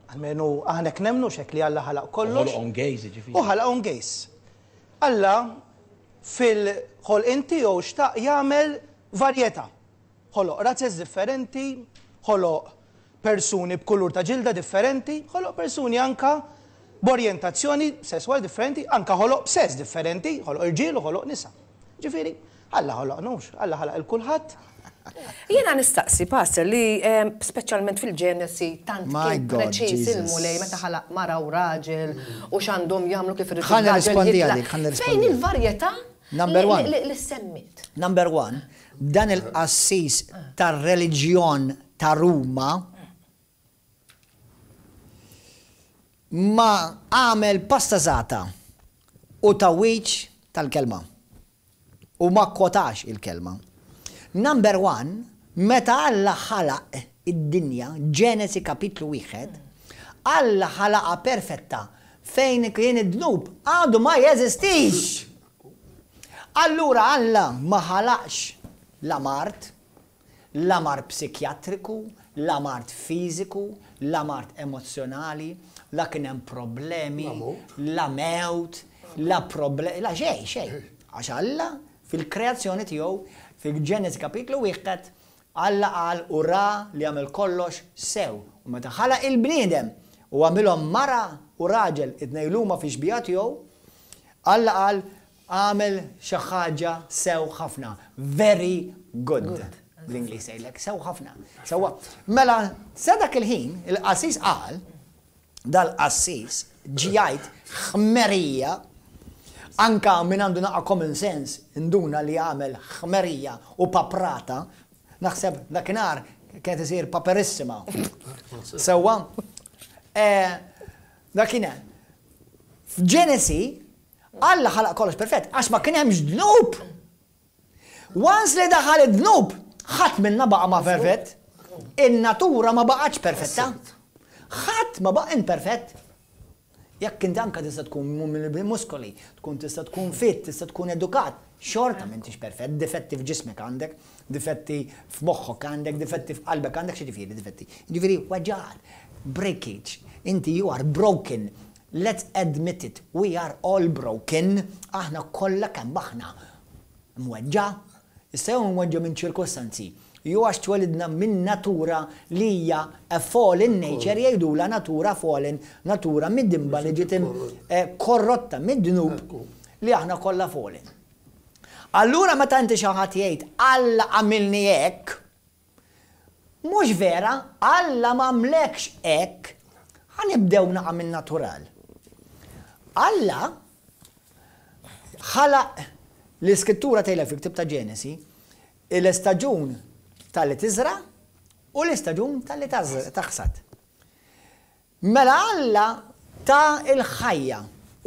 almenu aħna hekk nemmnu x'hekk li Alla ħalaq kollox. Ħoloqhom gays, ġifieri. U ħalaqhom gays. Alla fil-ħolqien tiegħu xtaq jagħmel varjetà. Ħoloq razzez differenti, ħoloq persuni b'kulur ta' ġilda differenti, ħoloq persuni anka b'orjentazzjoni sesswali differenti, anka ħoloq b'sess differenti, ħoloq irġiel u ħoloq nisa. Ġifieri, Alla ħoloq nux, Alla ħalaq il kulħadd. Jiena nistaqsi, Pastor, li speċjalment fil-Ġenesi tant My kien God, preċiż Jesus. il-Mulej meta ħalaq mara u raġel u x'għandhom jagħmlu kif irid Ħa il-raġel nirrispondi jitlaq. għalik, ħa nirrispondi Fejn għalik. il-varjetà Number li- one. li li semmit? Number one, dan il-qassis tar-reliġjon ta' Ruma ma għamel pastazata u tawiċ tal-kelma. U ma kwotax il-kelma. Number one, meta Alla ħalaq id-dinja, Ġenesi kapitlu wieħed, Alla ħalaqa perfetta fejn kien id-dnub għadu ma jeżistix. Allura Alla ma ħalaqx la mard, la mard psikjatriku, la mard fiżiku, la mard emozjonali, la kien hemm problemi, la mewt, la problemi, la xejn, xejn. Għax Alla fil-kreazzjoni tiegħu, fil-Ġenesi kapitlu wieħed, Alla qal u ra li għamel kollox sew. U meta ħalaq il-bniedem u għamilhom mara u raġel it-tnejn huma fi xbieha tiegħu, Alla qal għamel xi ħaġa sew ħafna. Very good. Bl-Ingliż jgħidlek sew ħafna. Sewwa. Mela sa dak il-ħin il-qassis qal, dal-qassis ġie jgħid ħmerija, anka min għandu naqa' common sense induna li għamel ħmerija u paprata, naħseb dakinhar kienet isir paperissima. Sewwa. Eh, dakinhar. F'Ġenesi, Alla ħalaq kollox perfett, għax ma kien hemmx dnub. Once li daħal id-dnub, ħadd minna baqa' ma perfett. In-natura ma baqgħetx perfetta. Ħadd ma baqa' imperfett. Jekk inti anka tista' tkun muskoli, tkun tista' tkun fit, tista' tkun edukat, xorta m'intix perfett, difetti f'ġismek għandek, difetti f'moħħok għandek, difetti f'qalbek għandek, x'jiġifieri difetti? Jiġifieri weġgħat, breakage, inti you are broken. Let's admit it, we are all broken, aħna kollha kemm aħna mweġġa, issa jew mweġġa minn ċirkostanzi, jew għax twelidna minn natura li hija a fallen nature, jgħidula natura fallen, natura mid-dimba li ġiet eh, korrotta mid-dnub li aħna kollha fallen. Allura meta inti xi ħadd jgħid Alla għamilni hekk, mhux vera, Alla m'għamlekx hekk, ħa nibdew naqa' minn natural. Alla ħalaq l-iskrittura tgħidlek fil-ktieb ta' Ġenesi, l-istaġun tal-li tiżra u l-istaġun tal-li taħsad. Mela Alla ta' il-ħajja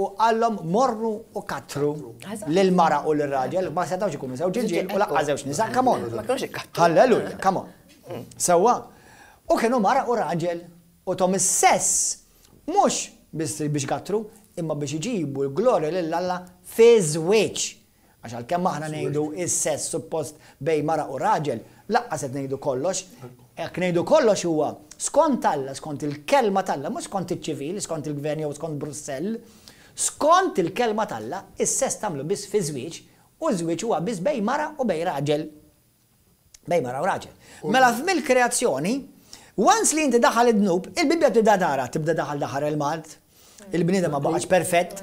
u qallhom morru u katru lil-mara u lir-raġel, ma setgħux ikunu żewġ irġiel u lanqas żewġ nisa, come on. Ma kinux ikkattru. Halleluja, come on. Sewwa. U kienu mara u raġel u tom is-sess mhux biss biex kattru, imma biex iġibu l-glorja lil Alla fi żwieġ. Għax għalkemm aħna ngħidu is-sess suppost bej mara u raġel, lanqas qed ngħidu kollox. Jekk ngħidu kollox huwa skont Alla, skont il-kelma t'Alla, mhux skont iċ-ċivil, skont il-gvern jew skont Brussell, skont il-kelma t'Alla, is-sess tagħmlu biss fi żwieġ, u żwieġ huwa biss bej mara u bej raġel. Bej mara u raġel. Mela f'mill-kreazzjoni, once li inti daħal id-dnub, il-Bibbja tibda tara, tibda daħal daħal il-mard, il-bniedem ma baqax perfett,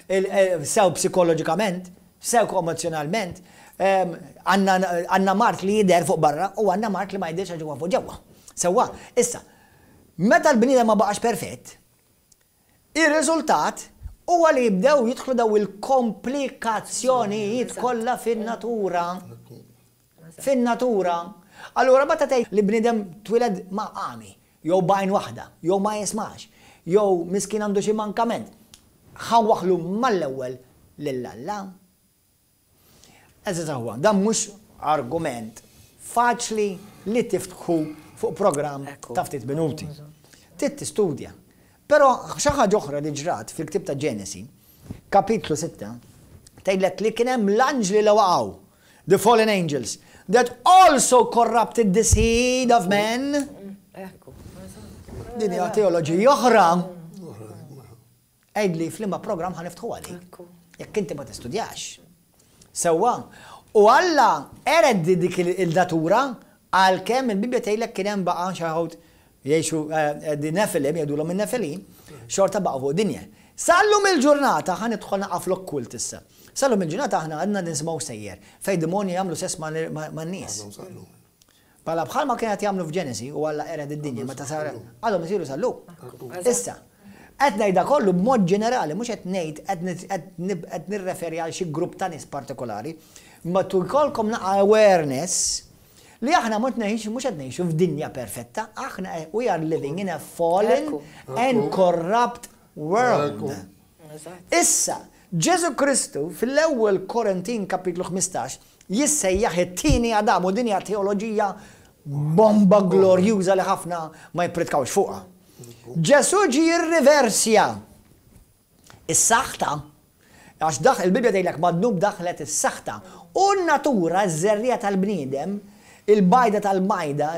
il-, eh, sew psikoloġikament, sew emozjonalment, ehm, għandna, għandna mard li jidher fuq barra u għandna mard li ma jidhirx għax ġewwa fuq ġewwa. Sewwa, issa, meta l-bniedem ma baqax perfett, ir-riżultat huwa li jibdew jidħlu daw il-komplikazzjonijiet kollha fin-natura. Fin-natura. Allura meta tgħid li bniedem twiled ma' għami, jew b'għajn waħda, jew ma jismax, jew miskin għandu xi mankament, ħawaħlu mal-ewwel lil Alla. Eżatt huwa, dan mhux argument faċli li tiftħu fuq programm Ekku. ta' ftit minuti. Trid tistudja. Però xi ħaġa oħra li ġrat fil-ktieb ta' Ġenesi, kapitlu sitta, tgħidlek li kien hemm l-anġli li waqgħu, the fallen angels, that also corrupted the seed of men. Ekku. Din hija teoloġija oħra. Għidli f'liema programm ħa niftħu għalik. Ekku. Jekk inti ma tistudjax. Sewwa. U Alla ered dik il-natura għalkemm il-Bibbja tgħidlek kien hemm baqa' xi ħadd jgħixu, eh, di Nefilim, jgħidulhom in-Nefilim, xorta baqgħu fuq dinja. Sallum il-ġurnata ħa nidħol naqa' fl-okkult issa. Sallum il-ġurnata aħna għadna nisimgħu sejjer fejn demonji jagħmlu sess ma' man-nies. Pala bħalma kienet jagħmlu f'Ġenesi u Alla qered id-dinja meta sar għadhom isiru sal-lum. Issa, qed ngħidha kollu b'mod ġenerali, mhux qed ngħid qed nirreferi għal xi grupp ta' nies partikolari, ma jkollkom naqa awareness li aħna mhux ngħixu mhux qed ngħixu f'dinja perfetta, aħna we are living in a fallen and corrupt world. Issa, Ġesu Kristu fil-ewwel Korintin kapitlu ħmistax jissejjaħ it-tieni Adam u din hija teoloġija bomba glorjuża li ħafna ma jippritkawx fuqha. Ġesu ġi jirriversja is-saħta, għax daħ il-Bibja tgħidlek mad-dnub daħlet is-saħta u n-natura, ż-żerriegħa tal-bniedem, il-bajda tal-majda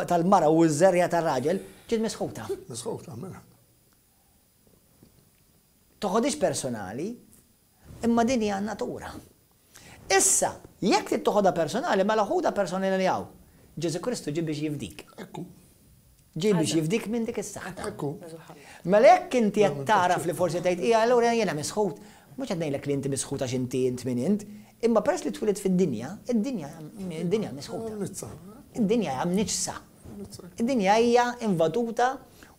tal-mara u ż-żerriegħa tar-raġel ġiet misħuta. Misħuta, mela. Toħodix personali, imma din hija natura. Issa, jekk trid toħodha personali, mela ħudha personali li hawn. Ġesu Kristu ġie biex jifdik. Ekku. Ġie biex jifdik minn dik is-saħta. Ekku. Mela jekk inti qed taraf li forsi tgħid hija allura jiena misħut, mhux qed ngħidlek li inti misħut għax inti int min int, imma peress li twilidt fid-dinja, id-dinja id-dinja misħuta. Id-dinja hija mniġsa. Id-dinja hija invaduta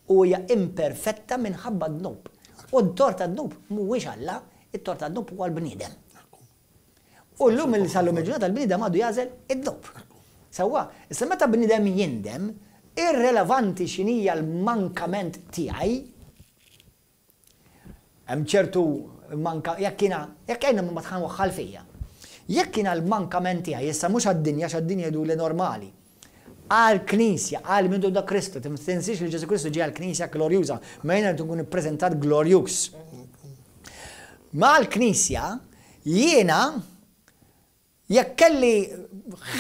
u hija imperfetta minħabba dnub. U t-tort tad-dnub mhuwiex Alla, it-tort tad-dnub huwa l-bniedem. U llum il sal-lum il-ġurnata l-bniedem għadu jagħżel id-dnub. Sewwa, issa meta bniedem jindem, irrelevanti x'inhija l-mankament tiegħi, hemm ċertu manka, jekk jiena, jekk jiena ma tħan waħħal fija. Jekk jiena l-mankament tiegħi, issa mhux għad-dinja, għax għad-dinja jgħidu li normali. Għal-Knisja, għal mindu da Kristu, tinsiex li Ġesu Kristu ġie għal-Knisja glorjuża, ma jiena tkun ippreżentat glorjuż. Ma għal-Knisja, jiena jekk kelli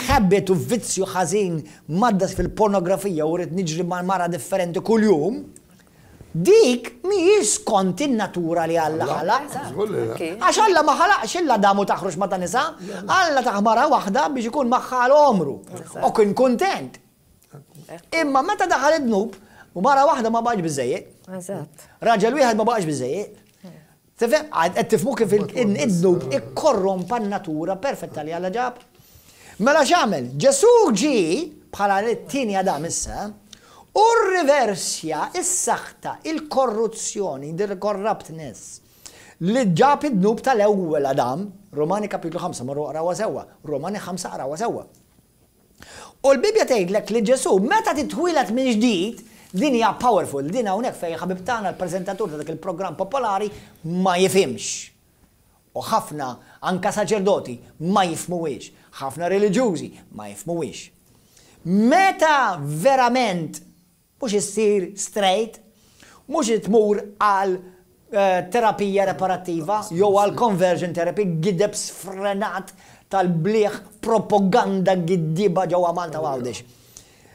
habit u vizzju ħażin maddas fil-pornografija u rrid niġri ma' mara differenti kuljum, dik mhijiex skont in-natura li Alla ħalaq. Għax Alla ma ħalaqx illa damu taħruġ ma ta' nisa, Alla tah mara waħda biex ikun magħha għal għomru. U kien kontent. Imma meta daħal id-dnub, u mara waħda ma baqgħx biżejjed. Raġel wieħed ma baqgħx biżejjed. Tifhem, qed tifhmu kif id-dnub ikkorrompa n-natura perfetta li Alla ġab. Mela x'għamel? Ġesu ġie bħala t-tieni Adam issa, u riversja is-saħta, il-korruzzjoni, the corruptness, li ġab id-dnub tal-ewwel Adam, Romani kapitlu ħamsa, marru aqrawha sewwa, Romani ħamsa aqrawha sewwa. U l-Bibja tgħidlek li Ġesu meta titwieled minn ġdid, din hija powerful, din hawnhekk fejn ħabib tagħna l-preżentatur ta' dak il-programm popolari ma jifhimx. U ħafna anka saċerdoti ma jifhmuhiex, ħafna reliġjużi ma jifhmuhiex. Meta verament mhux issir straight, mhux tmur għal eh, terapija reparattiva jew għal conversion therapy, gideb sfrenat tal-bliħ propaganda giddiba ġewwa Malta u Għawdex.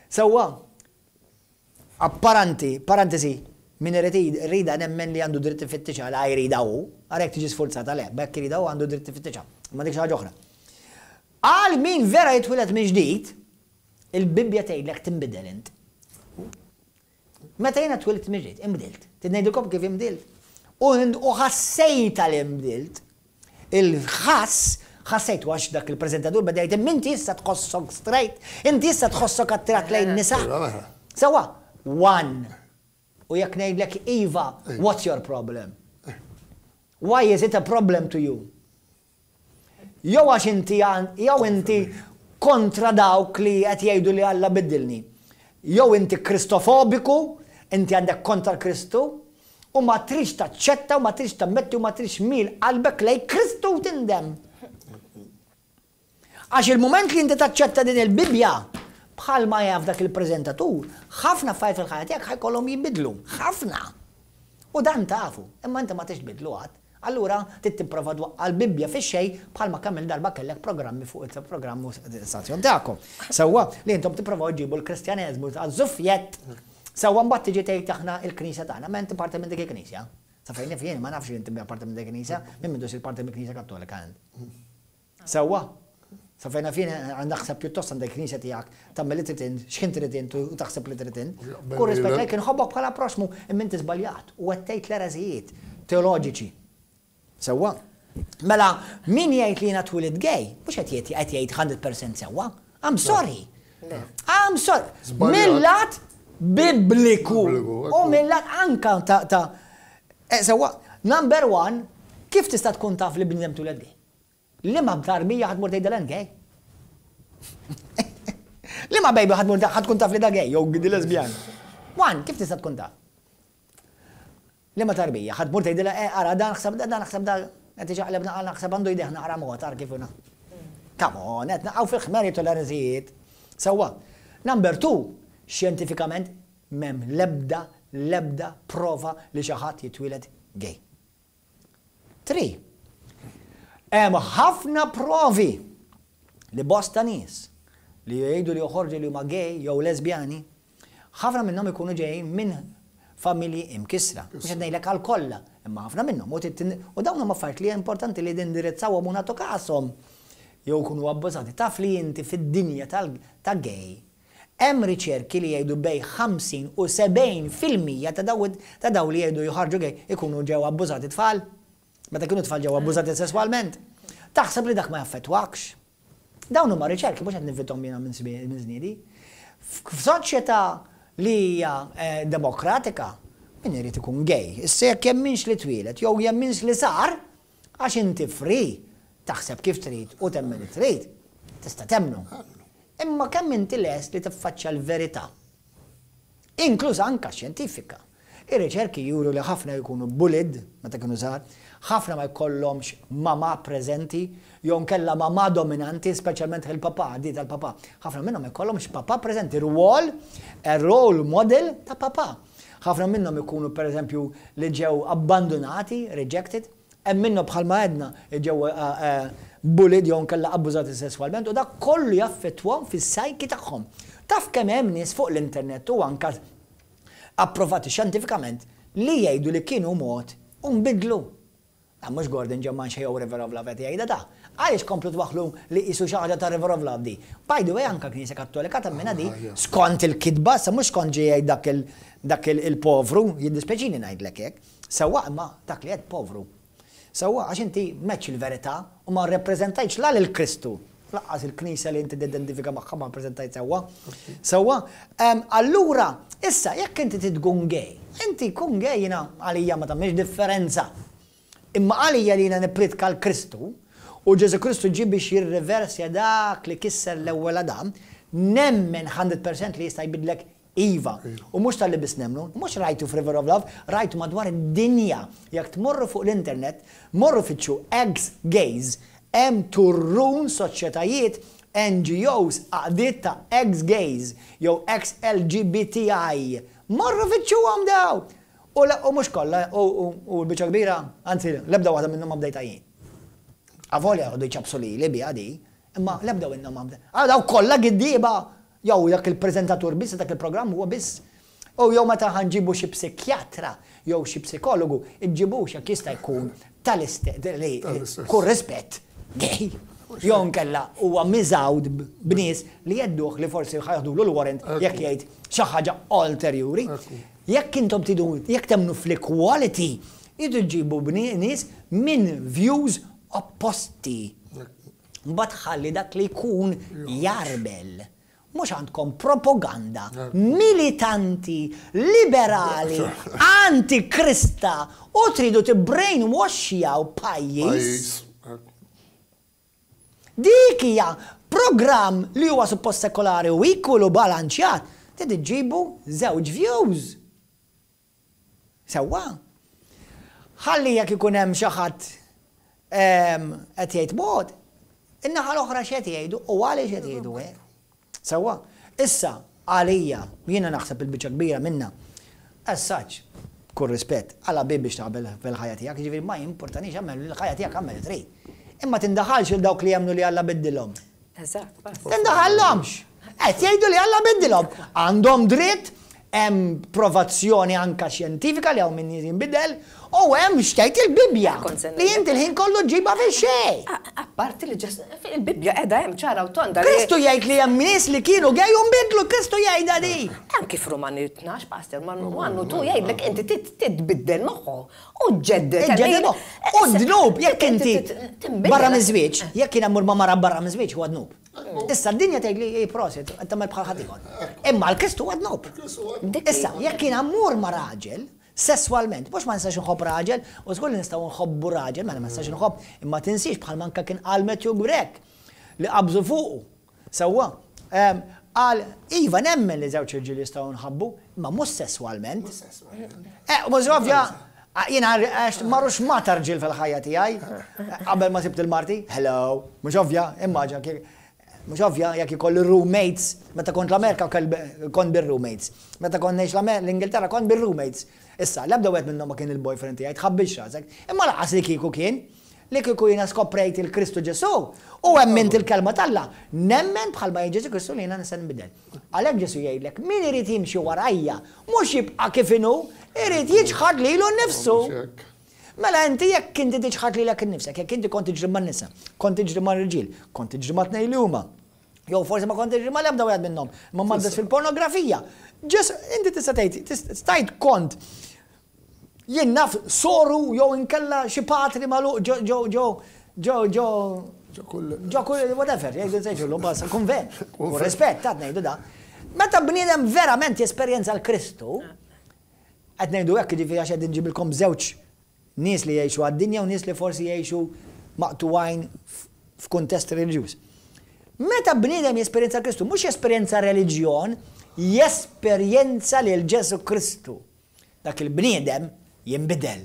Sewwa, apparanti, parentesi, min irid rida nemmen li għandu dritt ifittixha la jrida hu, għarek tiġi sforzata le, bekk jrida hu għandu dritt ifittixha. Ma dik xi ħaġa oħra. Għal min vera jitwieled minn ġdid, il-Bibbja tgħidlek tinbidel int. Meta jiena twilidt minn ġdid, inbdilt. Ngħidilkom kif inbdilt. U u ħassejta li nbdilt. Il-ħass ħassejt għax dak il-preżentatur beda jgħid inti issa tħossok straight, inti issa tħossok attirat lejn nisa. Sewwa, one. U jekk ngħidlek iva, what's your problem? Why is it a problem to you? Jew għax inti jew inti kontra dawk li qed jgħidu li Alla biddilni. Jew inti kristofobiku, inti għandek kontra Kristu, u ma trix taċċetta u ma trix tammetti u ma trix tmil qalbek lej Kristu u tindem. Għax il-moment li inti taċċetta din il-Bibja, bħal ma jaf dak il-preżentatur, ħafna affarijiet fil-ħajja tiegħek ħa jkollhom jinbidlu, ħafna. U dan tafu, imma inti ma tix tbidlu għad. Allura trid tipprova twaqqa' l-Bibbja fix-xejn bħalma kemm il-darba kellek programmi fuq il-programm stazzjon tagħkom. Sewwa li intom tipprovaw ġibu l-Kristjaneżmu għaż-żufjett. Sewwa mbagħad tiġi tgħid aħna il-Knisja tagħna, ma inti parti minn dik il-Knisja. Sa fejn naf jien ma nafx li inti parti minn dik il-Knisja, minn mindu sir parti mill-Knisja Kattolika int. Sewwa. Sa fejn naf jien għandek ħseb pjuttost għandek knisja tiegħek tagħmel li trid int, x'ħin trid int u taħseb li trid int. Kull rispett lejk inħobbok bħala proxmu imma inti żbaljat u qed tgħid l-ereżijiet teoloġiċi. Sewwa. Mela, min jgħid li jiena twilidt gay, mhux qed jgħid qed jgħid mija fil-mija sewwa. I'm sorry. I'm sorry. Mill-lat bibliku. U mill-lat anka ta' ta' eh, sewwa, number one, kif tista' tkun taf li bniedem twieled gay? Liema tarbija ħa tmur tgħidilha gay? Liema baby ħa tmur ħa tkun taf li da gay jew di lesbjan? One, kif tista' tkun taf? Liema tarbija ħa tmur tgħidilha eh ara dan naħseb da dan naħseb da qed iġaqleb naqal naħseb għandu jdejh naqra mod ar kif Come on, qed naqgħu fil-ħmeri toleranzijiet. Sewwa. Number two, xjentifikament m'hemm lebda lebda prova li xi ħadd jitwieled gay. Three, hemm ħafna provi li bosta nies li jgħidu li joħorġu li huma gay jew lesbjani, ħafna minnhom ikunu ġejjin minn familji imkisra. Mhux qed ngħidlek għal kollha, imma ħafna minnhom. U dawn huma affarijiet li importanti li nindirizzawhom u nagħtu kashom jew kunu abbużati. Taf li inti fid-dinja ta' gay hemm riċerki li jgħidu bejn ħamsin u sebgħin fil-mija ta' daw li jgħidu joħarġu gay ikunu ġew abbużati tfal. Meta kienu tfal ġew abbużati sesswalment. Taħseb li dak ma jaffettwakx. Dawn huma riċerki mhux qed nivvithom jiena minn żniedi. F'soċjetà li hija eh, demokratika, min irid ikun gay. Issa jekk jemminx li twieled jew jemminx li sar, għax inti free taħseb kif trid u temmen li trid, tista' temmnu. Imma kemm inti lest li tiffaċċja l-verità? Inkluż anka xjentifika. Ir-riċerki juru li ħafna jkunu bullied meta kienu żgħar, ħafna ma jkollhomx mama preżenti, jew nkella mama dominanti, speċjalment il-papà, di tal-papà. Ħafna minnhom ma jkollhomx papà preżenti, rwol, role model ta' papà. Ħafna minnhom ikunu pereżempju li ġew abbandonati, rejected, hemm minnhom bħalma għedna ġew eh, eh, bullied jew nkella abbużati sesswalment u dak kollu jaffettwahom fis-psyche tagħhom. Taf kemm hemm nies fuq l-internet u anka approvati xjentifikament li jgħidu li kienu mod u nbidlu. Da mhux Gordon Ġemman jew River of Love qed jgħidha da. Għaliex komplu twaħlu li qisu xi ħaġa ta' River of Love di. By the way, anka Knisja Kattolika temmina di skont il-kitba, sa mhux skont ġej jgħid dak il dak il-povru, jiddispeċini ngħidlek hekk. Sewwa imma dak li qed povru. Sewwa għax inti meċ il-verità u ma rrepreżentajtx la lil Kristu. Lanqas il-Knisja li inti tidentifika magħha ma rrepreżentajt sewwa. Sewwa, allura, issa jekk inti tkun gay, inti kun gay jiena għalija ma tagħmilx differenza. Imma għalija li jiena nippritka l-Kristu u Ġesu Kristu ġie biex jirriversja dak li kisser l-ewwel Adam, nemmen mija fil-mija li jista' jbidlek iva. U mhux talli biss nemmnu, mhux rajtu f'River of Love, rajtu madwar id-dinja. Jekk tmorru fuq l-internet, morru fittxu ex-gays, hemm turrun soċjetajiet, N G Os, għaqdiet ta' ex-gays, jew ex-L G B T I. Morru fittxuhom daw. U u mhux kollha, u l-biċċa kbira, anzi, l-ebda waħda minnhom ma bdejta jien. Avolja għadu jċabsu li li bija di, imma l-ebda minnhom ma bdejta. Ah, daw kollha giddieba, jew dak il-preżentatur biss, dak il-programm huwa biss. U jew meta ħa nġibu xi psikjatra jew xi psikologu, iġġibux jekk jista' jkun tal-istess li kull rispett gay. Jew nkella huwa miżgħud b'nies li jedduh li forsi ħa jeħdulu l-warrant jekk jgħid xi ħaġa ulterjuri. Jekk intom tidu, jekk temmnu fl-equality, idu ġibu nies minn views opposti. Mbagħad ħalli dak li jkun jarbel. Mhux għandkom propaganda militanti, liberali, antikrista u tridu tibbrainwashjaw pajjiż. Dik hija programm li huwa suppost sekolari u equal u balanċjat, trid iġibu żewġ views. Sewwa. Ħalli jekk ikun hemm xi ħadd qed jgħid mod, in-naħa l-oħra x'qed jgħidu u għaliex qed jgħidu hekk. Sewwa. Issa għalija jiena naħseb il-biċċa kbira minna. As such, kull rispett, għala bi biex taqbel fil-ħajja tiegħek, jiġifieri ma jimpurtanix, għamel il-ħajja tiegħek, għamel trid. Imma tindaħalx il dawk li jemmnu li Alla biddilhom. Eżatt. Tindaħallhomx. Qed jgħidu li Alla biddilhom. Għandhom dritt, hemm provazzjoni anka xjentifika li hawn min jinbidel u hemm x'tgħid il-Bibbja. Li inti l-ħin kollu ġiba fix-xejn. Apparti li ġas il-Bibbja qiegħda hemm ċara u tonda. Kristu jgħid li hemm nies li kienu gay u nbidlu, Kristu jgħidha di. Anki f'Rumani tnax, Pastor, man għannu tu jgħidlek inti titbiddel moħħu u ġeddet. Ġeddet moħħu. U dnub, jekk inti barra miż-żwieġ, jekk jien mmur ma' mara barra miż-żwieġ huwa dnub. Issa d-dinja tgħid li ej prosit, qed tagħmel bħal ħaddieħor. Imma l-Kristu huwa dnub. Issa, jekk jiena mmur ma' raġel, sesswalment, mhux ma nistax nħobb raġel, u żgur li nistgħu nħobbu raġel, mela ma nistax nħobb, imma tinsiex bħal manka kien qal Matthew Grech li qabżu fuqu. Sewwa, qal iva nemmen li żewġ irġiel jistgħu nħabbu, imma mhux sesswalment. Eh, mhux ovvja, jiena għax marrux ma tarġil fil-ħajja tiegħi qabel ma sibt il-marti, hello, mhux ovvja, immaġina mhux ovvja jekk ikolli roommates, meta kont l-Amerika kont bir-roommates. Meta kont ngħix l-Ingilterra kont bir-roommates. Issa, l-ebda wieħed minnhom ma kien il-boyfriend tiegħi, tħabbilx rasek. Imma laqas li kieku kien, li kieku jiena skoprejt il-Kristu Ġesu u emmint il-kelma t'Alla, nemmen bħalma jgħid Ġesu Kristu li jiena nista' nbidel. Għalhekk Ġesu jgħidlek min irid jimxi warajja, mhux jibqa' kif inhu, irid jiċħad lilu nnifsu. Mela inti jekk inti tiċħad lilek innifsek, jekk inti kont tiġri man-nisa, kont tiġri mar-irġiel, kont tiġri ma' tnejn li huma, jew forsi ma kont tiġri mal-ebda wieħed minnhom, ma maddas fil-pornografija. Ġesu, inti tista' tgħid, stajt kont jien naf soru jew inkella xi patri magħluq ġo ġo ġo ġo ġo ġo kull whatever, jgħidu nsejġu bas konvent. U rispett, ta' ngħidu da. Meta bniedem verament jesperjenza l-Kristu, qed ngħidu hekk jiġifieri għax qed inġibilkom żewġ nies li jgħixu għad-dinja u nies li forsi jgħixu maqtuwajn f'kuntest reliġjuż. Meta bniedem jesperjenza Kristu, mhux jesperjenza reliġjon, jesperjenza lil Ġesu Kristu. Dak il-bniedem jinbidel.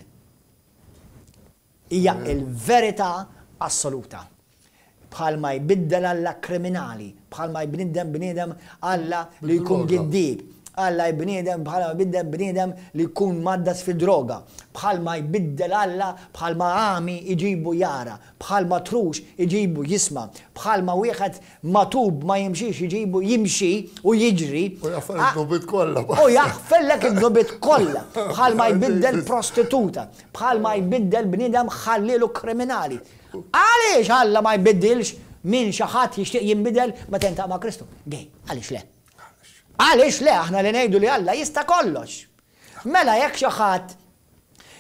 Hija il-verità assoluta. Bħalma jbiddel Alla kriminali, bħalma jbniddem bniedem Alla li jkun giddib, Alla jbniedem bħalma jbiddel bniedem li jkun maddas fid-droga, bħalma jbiddel Alla bħalma għami iġibu jara, bħalma trux iġibu jisma, bħalma wieħed matub ma jimxix iġibu jimxi u jiġri. U jaħfel id-dnubiet kollha. U jaħfellek id-dnubiet kollha. Bħalma jbiddel prostituta, bħalma jbiddel bniedem ħallielu kriminali. Għaliex Alla ma jbiddilx min xi ħadd jixtieq jinbidel meta jintaq ma' Kristu? Gej, għaliex le? Għaliex le, aħna li ngħidu li Alla jista' kollox. Mela jekk xi ħadd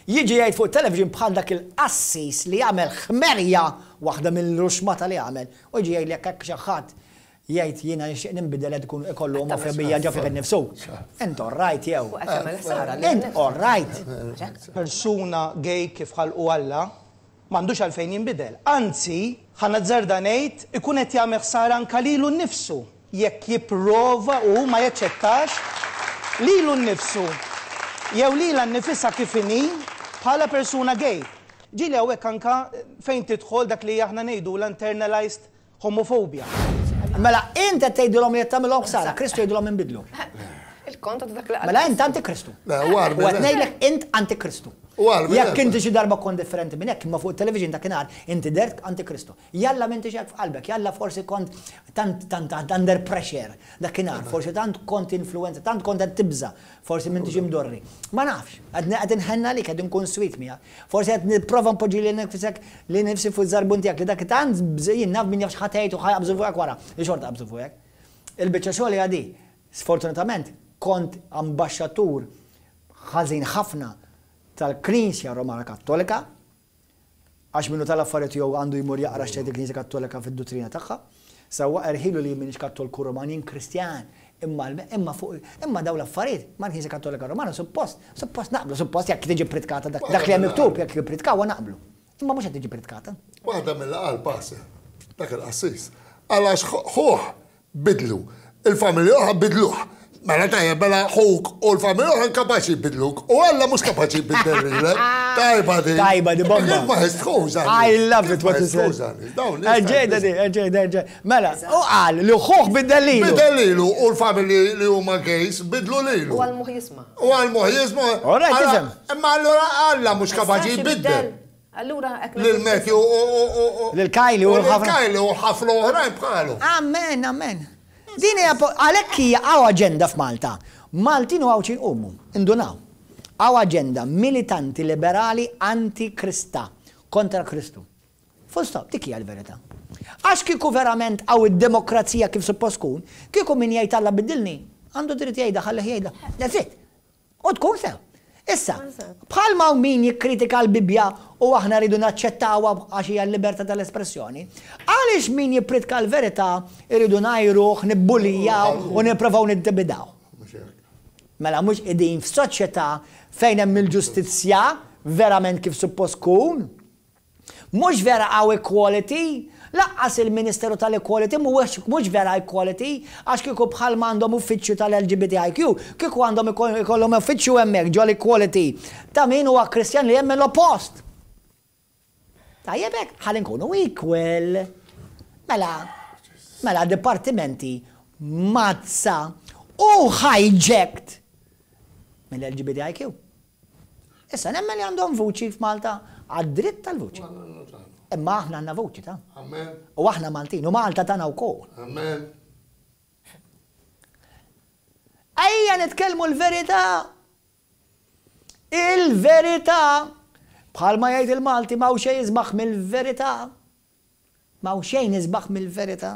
jiġi jgħid fuq television bħal dak il-qassis li jagħmel ħmerja waħda mill-ruxmata li jagħmel, u jiġi jgħid jekk xi ħadd jgħid jiena nixtieq ninbidel qed ikun ikollu omofobija ġo fih innifsu. Int all right jew. Int all right. Persuna gay kif ħalqu Alla m'għandux għalfejn jinbidel. Anzi, ħa nazzarda ngħid ikun qed jagħmel ħsara anke lilu nnifsu jekk jipprova u ma jaċċettax lilu nnifsu jew lilha nnifisha kif inhi bħala persuna gay. Ġieli hawnhekk anka fejn tidħol dak li aħna ngħidu l-internalized homophobia. Mela int qed tgħidilhom li qed tagħmilhom ħsara, Kristu jgħidilhom inbidlu. Il-kontra ta' dak li qal. Mela int antikristu. Le, u għarbi, U qed ngħidlek int antikristu. U għarbi, Jekk le. inti xi darba kont differenti minn hekk, imma fuq it-television dakinhar inti dert antikristu. Jalla m'intix hekk f'qalbek, jalla forsi kont tant tant tant under pressure dakinhar, forsi tant kont influenza, tant kont qed tibża, forsi m'intix imdorri. Ma nafx, qed qed inħenna għalik, qed inkun sweet miegħek. Forsi qed nipprova npoġġi lil nifsek li nifsi fuq żarbun tiegħek li dak tant bżejjin naf min jaf x'ħatejt u ħajqabżu fuqek wara, li xorta qabżu fuqek. Il-biċċa xogħol hija di. Sfortunatament kont ambaxxatur ħażin ħafna tal-Knisja Romana Kattolika, għax minnu tal-affarijiet jew għandu jmur jaqra x'tgħid il-Knisja Kattolika fid-duttrina tagħha. Sewwa erħilu li minix Kattolku Roman, jien Kristjan, imma l-, imma fuq, imma dawn l-affarijiet mal-Knisja Kattolika Romana suppost, suppost naqblu, suppost jekk tiġi pritkata dak, dak li hemm miktub jekk jippritkaw naqblu. Imma mhux qed tiġi pritkata. Waħda mill-qal pass, dak il-qassis. Għalax ħuh bidlu, il-familja oħra bidluh. Mela tajjeb, mela ħuk u l-familja oħra kapaċi jbidluk. U Alla mhux kapaċi jbiddel lilek. Tajba di. Tajba di bomba. Kif ma jistħux għandi? I love it what you said. Ġejda di, ġejda, ġejda. Mela, u qal li ħuh biddel lilu. Biddel lilu u l-familji li huma gays bidlu lilu. U għal moħ jisma'. U għal moħ jisma'. All right, Alla- tifhem. Imma allura Alla mhux kapaċi Jistax jbiddel. ibiddel. Allura hekk Lil Matthew u u u u. Lil Kylie u lil ħafna. Kylie u ħafna oħrajn bħalu. Amen, amen. Din hija po-, għalhekk hija hawn aġenda f'Malta. Maltin u Għawdxin qumu, indunaw. Hawn aġenda militanti liberali anti-Krista, kontra Kristu. Full stop, dik hija l-verità. Għax kieku verament hawn id-demokrazija kif suppost tkun, kieku min jgħid Alla biddilni, għandu dritt jgħidha, ħallih jgħidha. That's it. U tkun sew. Issa, bħalma hawn min jikkritika l-Bibbja u aħna rridu naċċettawha għax hija l-libertà tal-espressjoni, għaliex min jippritka l-verità rridu ngħajruh, nibbullijaw u nipprovaw nintimidaw? Mela mhux qegħdin f'soċjetà fejn hemm il-ġustizzja verament kif suppost tkun? Mhux vera hawn equality? Lanqas il-Ministeru tal-Equality mhuwiex mhux vera equality għax kieku bħalma għandhom uffiċċju tal-L G B T I Q, kieku għandhom ikollhom uffiċċju hemmhekk ġol-equality ta' min huwa Kristjan li jemmen l-oppost. Tajjeb hekk, ħalli nkunu equal. Mela, mela dipartimenti mazza u hijacked mill-L G B T I Q. Issa nemmen li għandhom vuċi f'Malta, għad-dritt tal-vuċi. Imma aħna għandna vuċi ta' Amen. U aħna Maltin, u Malta tagħna wkoll. Amen. Ejja nitkellmu l-verità. Il-verità. Bħalma jgħid il-Malti, m'hawn xejn isbaħ mill-verità. M'hawn xejn isbaħ mill-verità.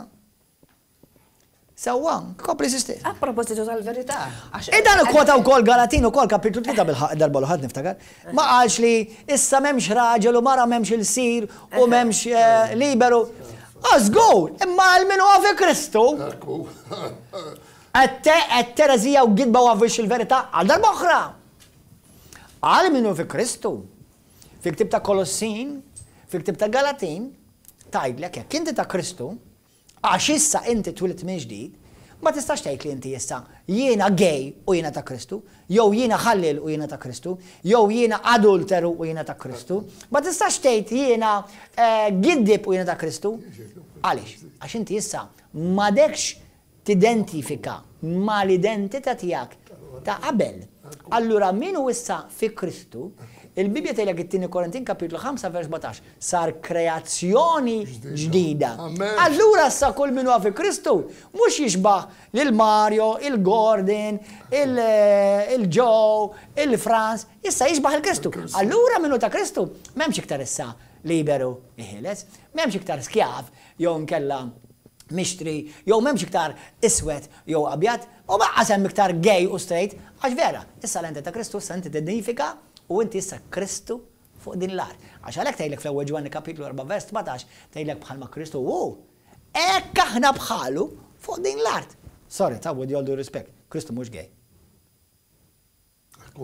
Sewwa, kompli, sister. A propositu tal-verità. E dan kwota wkoll Galatin ukoll kapitlu tlieta bil-ħaq darba l niftakar. Ma qalx li issa m'hemmx raġel u mara, m'hemmx ilsir u m'hemmx eh, liberu. Żgur, imma għal min huwa fi Kristu. Ekku. Qed tereżija u gidba u għavix il-verità għal darba oħra. Għal min hu fi Kristu. Fi ktib ta' Kolossin, fi ktib ta' Galatin, tgħidlek jekk inti ta' Kristu, għax issa inti twilidt minn ġdid, ma tistax tgħid li inti issa jiena gay u jiena ta' Kristu, jew jiena ħallil u jiena ta' Kristu, jew jiena adulteru u jiena ta' Kristu. Ma tistax tgħid jiena eh, giddib u jiena ta' Kristu. Għaliex? Għax inti issa m'għadekx tidentifika mal-identità tiegħek ta' qabel. Allura min hu issa fi Kristu, il-Bibja tgħidlek it-tieni Korintin kapitlu ħamsa vers sbatax, sar kreazzjoni ġdida. Amen. Allura issa kull min huwa fi Kristu mhux jixbaħ lil Mario, il-Gordon, il-Joe, il-Franz, issa jixbaħ il-Kristu. Allura min hu ta' Kristu m'hemmx iktar issa liberu ħieles, m'hemmx iktar skjav jew nkella mixtri, jew m'hemmx iktar iswed jew abjad, u lanqas hemm iktar gay u straight, għax vera, issa l ta' Kristu, issa inti tidentifika u inti issa Kristu fuq din l-art. Għax għalhekk tgħidlek fl-ewwel Ġwanni kapitlu erba' vers sbatax, tgħidlek bħalma Kristu hu, hekk aħna bħalu fuq din l-art. Sorry, ta' with all due respect, Kristu mhux gay.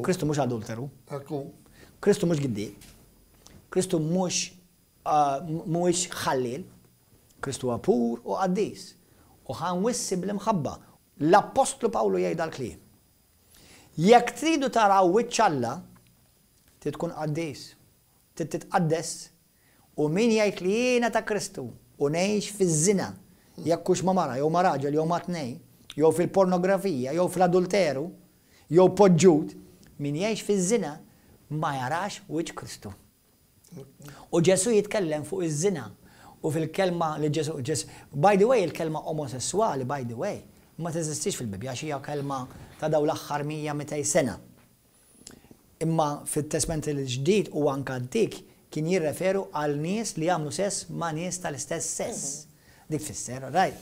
Kristu mhux adulteru. Ekku. Kristu mhux giddi. Kristu mhux uh, mhuwiex ħallil. Kristu huwa pur u qaddis. U ħa nwissi bl-imħabba. L-Apostlu Pawlu jgħid dal-kliem. Jekk tridu taraw wiċċ Alla, trid tkun qaddis. Trid titqaddes. U min jgħid li jiena ta' Kristu u ngħix fiż-żina, jekk hux ma' mara jew ma' raġel jew ma' tnej, jew fil-pornografija, jew fl-adulteru, jew poġġut, min jgħix fiż-żina ma jarax wiċċ Kristu. U Ġesu jitkellem fuq iż-żina u fil-kelma li Ġesu, Ġesu, by the way, il-kelma omosessuali, by the way, ma teżistix fil-Bibja, xi kelma ta' daw l-aħħar mija sena. Imma fit-Testament il-ġdid u anka antik kien jirreferu għal nies li jagħmlu sess ma' nies tal-istess sess. Dik fisser, right?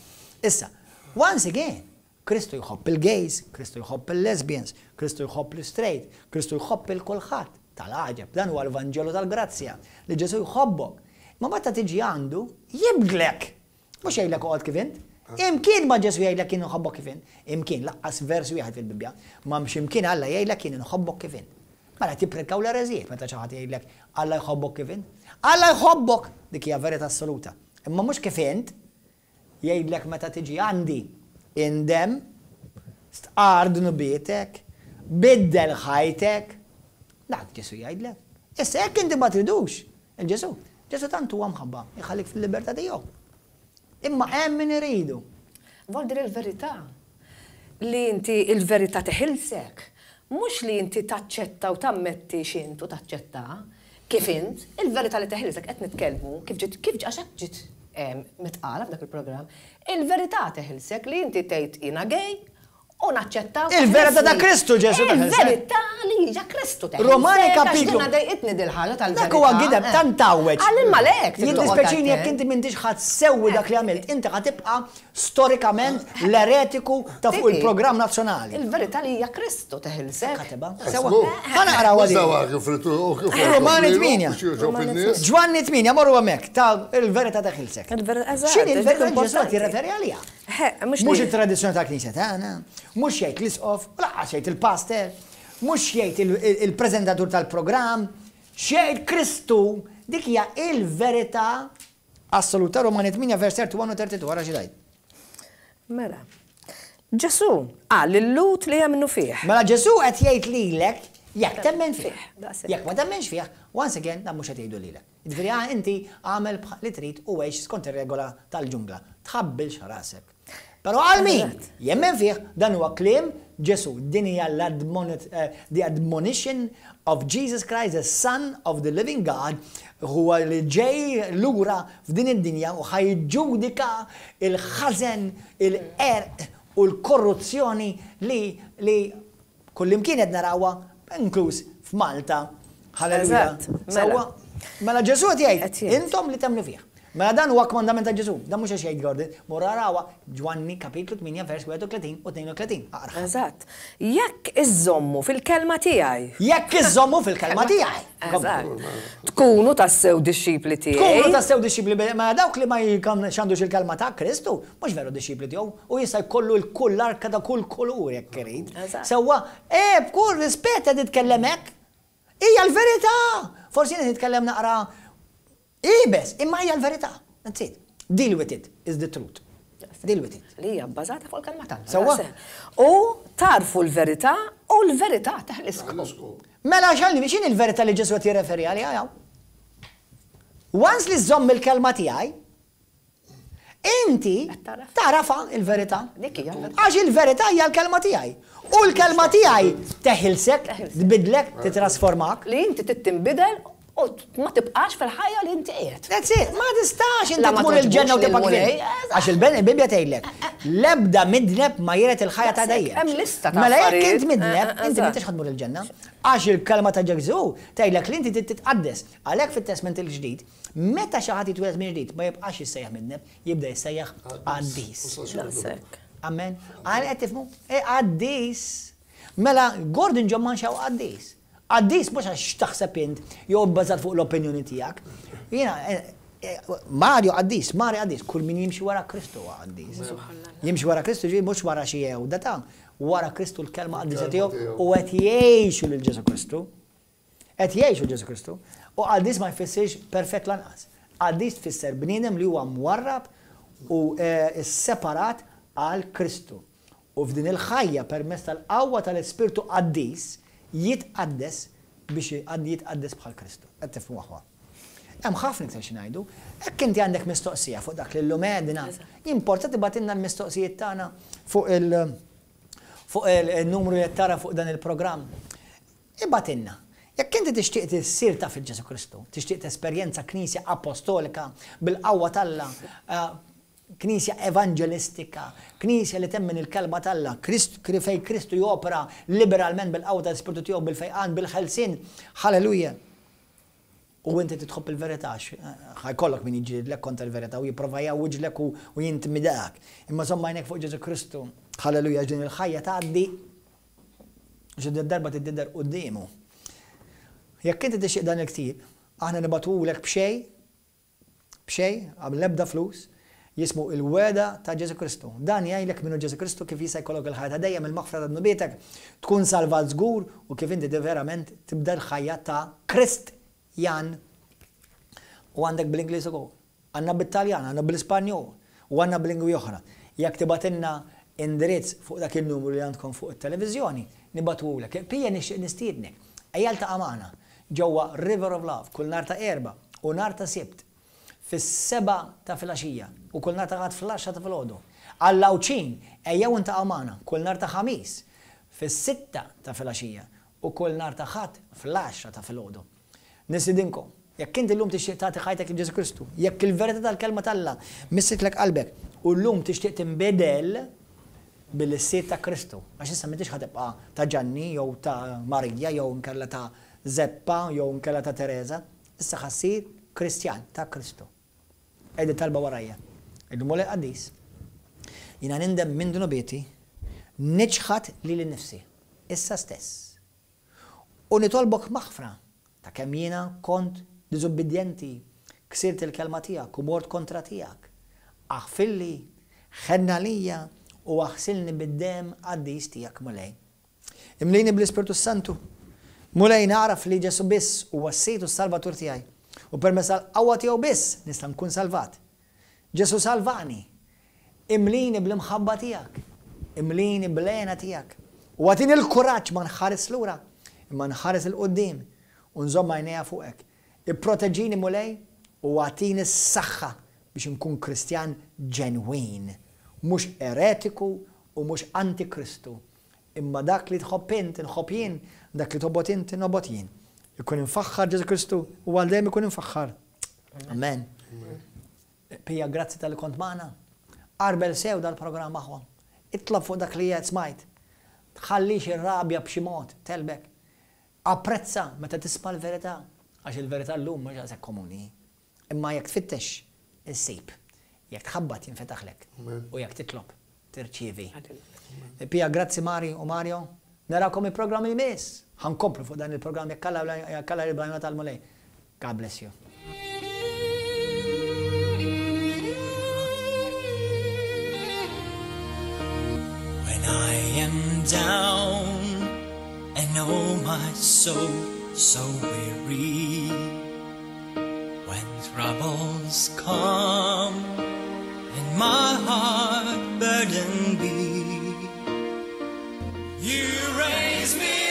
Issa, once again, Kristu jħobb il-gays, Kristu jħobb il-lesbians, Kristu jħobb l-straight, Kristu jħobb il-kulħadd. Tal-għaġeb, dan huwa l-Vanġelu tal-Grazzja, li Ġesu jħobbok. Ma meta tiġi għandu, jibdlek. Mhux jgħidlek oqgħod kif int. Imkien ma Ġesu jgħidlek jien nħobbok kif int. Imkien, lanqas vers wieħed fil-Bibbja. Ma mx imkien Alla jgħidlek jien nħobbok kif int. Mela tipprekaw l-ereżijiet meta xi ħadd jgħidlek Alla jħobbok kif int. Alla jħobbok, dik hija verità assoluta. Imma mhux kif int, jgħidlek meta tiġi għandi indem, stqar dnubietek, biddel ħajtek. Dak Ġesu jgħidlek. Issa jekk inti ma tridux, il-Ġesu, Ġesu tant huwa mħabba, jħallik fil-libertà tiegħu. Imma hemm min iridu. Vol dir il-verità. Li inti il-verità teħilsek. Mhux li inti taċċetta u tammetti x'int u taċċetta kif int, il-verità li teħilsek qed nitkellmu kif ġiet kif għax hekk ġiet mitqala f'dak il-programm. Il-verità teħilsek li inti tgħid jiena gay u naċċetta. Il-verità ta' Kristu Ġesu teħilsek. Il-verità li Hija Kristu teħilsek. Romani kapitlu. Għax dejqitni dil-ħaġa tal-verità. Dak huwa gideb tant tgħawweġ. Għal imma lek. Jiddispjaċini jekk inti m'intix ħadd sewwi dak li għamilt, inti ħa tibqa' storikament l-eretiku ta' fuq il-programm nazzjonali. Il-verità li hija Kristu teħilsek. Kateba. Sewwa. Ħa naqraw għadi. Romani tmienja. Ġwanni tmienja, morru hemmhekk ta' il-verità teħilsek. X'inhi il-verità Ġesù qed jirreferi għaliha? Mhux it-tradizzjoni tal-Knisja tagħna, mhux jgħid l-isqof, lanqas jgħid il-pastor, mhux jgħid il-preżentatur tal-programm, x'jgħid Kristu, dik hija il-verità assoluta. Romani tmienja vers wieħed u tletin u tlieta u erbgħin, wara xi tgħid. Mela. Ġesù qal lil-Lhud li jemmnu fih. Mela Ġesù qed jgħid lilek jekk temmen fih. Jekk ma temmenx fih, once again, dan mhux qed jgħidu lilek. Jiġifieri inti għamel li trid u għix skont ir-regola tal-ġungla. Tħabbilx rasek. Però għal min jemmen fih, dan huwa kliem Ġesù. Din hija the admonition of Jesus Christ, the Son of the Living God, huwa li ġej lura f'din id-dinja u ħa jiġġudika il-ħażen, il-qerq u l-korruzzjoni li li kullimkien qed narawha, inkluż f'Malta. Halleluja. Sewwa. Mela Ġesù qed jgħid, intom li temmnu fih. Mela dan huwa kmandament ta' Ġesù. Dan mhux għax jgħid Gordon, mur arawha Ġwanni kapitlu tmienja vers wieħed u tletin u tnejn u tletin. Aqra. Eżatt. Jekk iżommu fil-kelma tiegħi. Jekk iżommu fil-kelma tiegħi. Eżatt. Tkunu tassew dixxipli tiegħi. Tkunu tassew dixxipli, ma dawk li ma jxandux il-kelma ta' Kristu, mhux veru dixxipli tiegħu, u jista' jkollu l-kull arka ta' kull kulur jekk irid. Sewwa, eh b'kull rispett qed titkellem hekk. Hija l-verità. Forsi nitkellem naqra iebes, imma hija l-verità. That's it. Deal with it is the truth. Deal with it. Li hija bbażata fuq il-kelma t'Alla. Sewwa. U tarfu l-verità u l-verità teħliskom. Mela xalni, x'inhi l-verità li Ġesù qed jirreferi għaliha? Once li żomm il-kelma tiegħi, inti tarafa il-verità. Għax il-verità hija l-kelma tiegħi. U l-kelma tiegħi teħilsek, tbidlek, titrasformak. Li inti tittinbidel u ma tibqax fil-ħajja li inti qiegħed. That's it, ma tistax inti tmur il-ġenna u tibqa' kif. Għax il-Bibbja tgħidlek, l-ebda midneb ma jiret il-ħajja ta' dejjem. Hemm lista ta' Mela jekk int midneb, inti m'intix ħa tmur il-ġenna. Għax il-kelma ta' Ġesù tgħidlek li inti titqaddes. Għalhekk fit-Testament il-Ġdid, meta xi ħadd jitwieled minn ġdid ma jibqax jissejjaħ midneb, jibda jissejjaħ qaddis. Amen. Għal qed tifhmu? E qaddis. Mela Gordon John Manche qaddis. Qaddis mhux għax taħseb int jew bbażat fuq l-opinjoni tiegħek. Jiena Mario qaddis, Mario qaddis, kull min jimxi wara Kristu huwa qaddis. Jimxi wara Kristu ġi mhux wara xi jewda ta' wara Kristu, l-kelma qaddisa tiegħu, u qed jgħixu lil Ġesu Kristu. Qed jgħixu Ġesu Kristu. U qaddis ma jfissirx perfett lanqas. Qaddis tfisser bniedem li huwa mwarrab u separat għal Kristu. U f'din il-ħajja permezz tal-qawwa tal-Ispirtu Qaddis jitqaddes biex jitqaddes bħal Kristu. Qed tifhmu, aħwa? Hemm ħafna iktar xi ngħidu. Hekk inti għandek mistoqsija fuq dak li llum għedna, jimporta tibgħatilna l-mistoqsijiet tagħna fuq il- fuq il-numru li tara fuq dan il-programm. Ibgħatilna. Jekk inti tixtieq tissir taf il Ġesu Kristu, tixtieq tesperjenza knisja apostolika bil-qawwa t'Alla, knisja evangelistika, knisja li temmen il-kelma t'Alla, fej Kristu jopera liberalment bil-qawwa tal-Ispirtu tiegħu, bil-fejqan, bil-ħelsin. Halleluja. U inti titħobb il-verità, ħa jkollok min jiġġielidlek kontra l-verità u jipprova jgħawwiġlek u jintimidak. Imma żomm għajnek fuq Ġesu Kristu. Halleluja, din il-ħajja tgħaddi xi darba tidher quddiemu. Jekk inti tixtieq dan il-ktieb, aħna nibagħtulek b'xejn, b'xejn, għal l-ebda flus, jismu Il-Wegħda ta' Ġesu Kristu. Dan jgħidlek min hu Ġesu Kristu, kif jista' jkollok il-ħajja ta' dejjem, il-maħfra ta' dnubietek, tkun salvat żgur u kif inti verament tibda l-ħajja ta' Kristjan. U għandek bl-Ingliż ukoll. Għandna bit-Taljan, għandna bl-Ispanjol u għandna b'lingwi oħra. Jekk tibgħatilna indirizz fuq dak il-numru li għandkom fuq it-televiżjoni, nibagħtulek. Pija nixtieq nistiednek. Ejja ltaqa' magħna ġewwa River of Love kull nhar ta' Erbgħa u nhar ta' Sibt fis-sebgħa ta' filgħaxija u kull nhar ta' Ħadd fl-għaxra ta' filgħodu. Għall-Għawdxin, ejjew iltaqgħu magħna kull nhar ta' Ħamis fis-sitta ta' filgħaxija u kull nhar ta' Ħadd fl-għaxra ta' filgħodu. Nistedinkom, jekk inti llum tixtieq tagħti ħajtek lil Ġesu Kristu, jekk il-verità tal-kelma t'Alla missitlek qalbek u llum tixtieq tinbidel, Billi ssir ta' Kristu. Għax issa m'intix ħa tibqa' ta' Ġanni jew ta' Marija jew inkella ta' Zeppa jew inkella ta' Teresa. Issa ħa ssir Kristjan ta' Kristu. Għid it-talba warajja. Għidlu Mulej qaddis, jiena nindem minn dnubieti, niċħad lili nnifsi, issa stess. U nitolbok maħfra ta' kemm jiena kont diżubbidjenti, ksirt il-kelma tiegħek u mort kontra tiegħek. Aħfirli, ħenn għalija u aħsilni bid-demm qaddis tiegħek Mulej. Imlini bl-Ispirtu s-Santu. Mulej nagħraf li Ġesù biss huwa s-Sid u s-Salvatur tiegħi u permezz tal-qawwa tiegħu biss nista' nkun salvat. Ġesù salvani. Imlini bl-imħabba tiegħek. Imlini bl-hena tiegħek. U agħtini l-kuraġġ ma nħares lura, imma nħares 'il quddiem u nżomm għajnejja fuqek. Ipproteġini Mulej u agħtini s-saħħa biex inkun Kristjan ġenwin, mhux eretiku u mhux antikristu, imma dak li tħobb int inħobb jien, dak li tobgħod int nobgħod jien. Ikun imfaħħar Ġesù Kristu u għal dejjem ikun imfaħħar. Amen. Pija, grazzi talli kont magħna. Għarbel sew dal-programm aħwa. Itlob fuq dak li qed smajt. Tħallix ir-rabja b'xi mod tegħlbek. Apprezza meta tisma' l-verità, għax il-verità llum mhux daqshekk komuni. Imma jekk tfittex, issib. Jekk tħabbat jinfetaħlek. U jekk titlob, tirċievi. Pija, grazzi Mari u Mario. Narakom il-programm li jmiss. Ħa nkomplu fuq dan il-programm jekk Alla jekk Alla jrid bl-għajnuna tal-Mulej. God bless you. When I am down and oh my soul so weary, when troubles come and my heart burdened be, you raise me